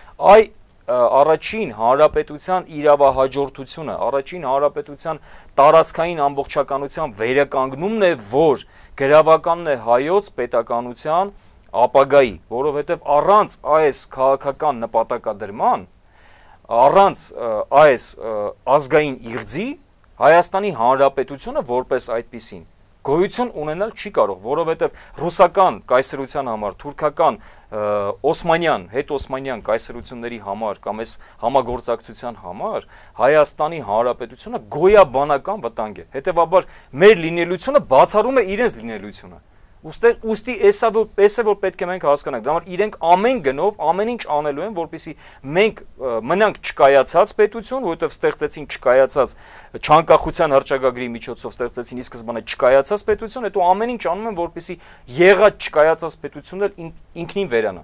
առաջին հանրապետության իրավահաջորդությունը, առաջին հանրապետության տարածքային ամբողջականության վերականգնումն է, որ գրավականն է հայոց պետականության ապագայի, որովհետև առանց այս քաղաքական նպատակադրման, առանց այս ազգային իղձի Հայաստանի Հանրապետությունը որպես այդպիսին գոյություն ունենալ չի կարող, որովհետև ռուսական կայսրության համար, թուրքական օսմանյան, հետօսմանյան կայսրությունների համար կամ այս համագործակցության համար Հայաստանի Հանրապետությունը գոյաբանական վտանգ է։ Հետևաբար մեր լինելությունը բացառում է իրենց լինելությունը։ Ուստի էսա որ պետք է մենք հասկանանք, դրա համար իրենք ամեն գնով ամեն ինչ անելու են, որպեսզի մենք մնանք չկայացած պետություն, որովհետև ստեղծեցին չկայացած չանկախության հռչակագրի միջոցով ստեղծեցին ի սկզբանե չկայացած պետություն, հետո ամեն ինչ անում են, որպեսզի եղած չկայացած պետությունն էլ ինքնին վերանա։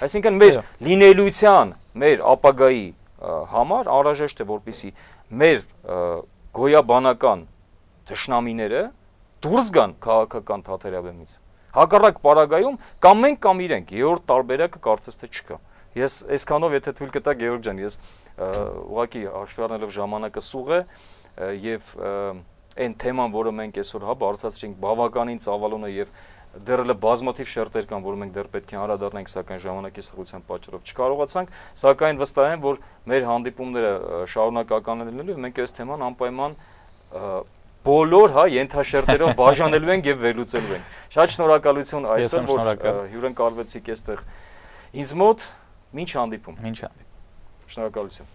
Այսինքն մեր լինելության, մեր ապագայի համար անհրաժեշտ է, որպեսզի մեր գոյաբանական թշնամիները դուրս գան քաղաքական թաթերաբեմից։ Հակառակ պարագայում կամ մենք կամ իրենք, երրորդ տարբերակը կարծես թե չկա։ Ես այսքանով եթե թույլ կտա Գեորգ ջան, ես ուղղակի հաշվի առնելով ժամանակը սուղ է եւ այն թեման, որը մենք այսօր հա բարձրացրինք, բավականին ծավալուն է եւ դեռ բազմաթիվ շերտեր կան, որ մենք դեռ պետք է անդրադառնանք, սակայն ժամանակի սղության պատճառով չկարողացանք, սակայն վստահ եմ, որ մեր հանդիպումները շարունակական են լինելու, մենք այս թեման անպայման բոլոր հա ենթաշերտերով բաժանելու ենք եւ վերլուծելու ենք։ Շատ շնորհակալություն այսօր, որ հյուրընկալվեցիք այստեղ ինձ մոտ, մինչ հանդիպում։ Մինչ հանդիպում։ Շնորհակալություն։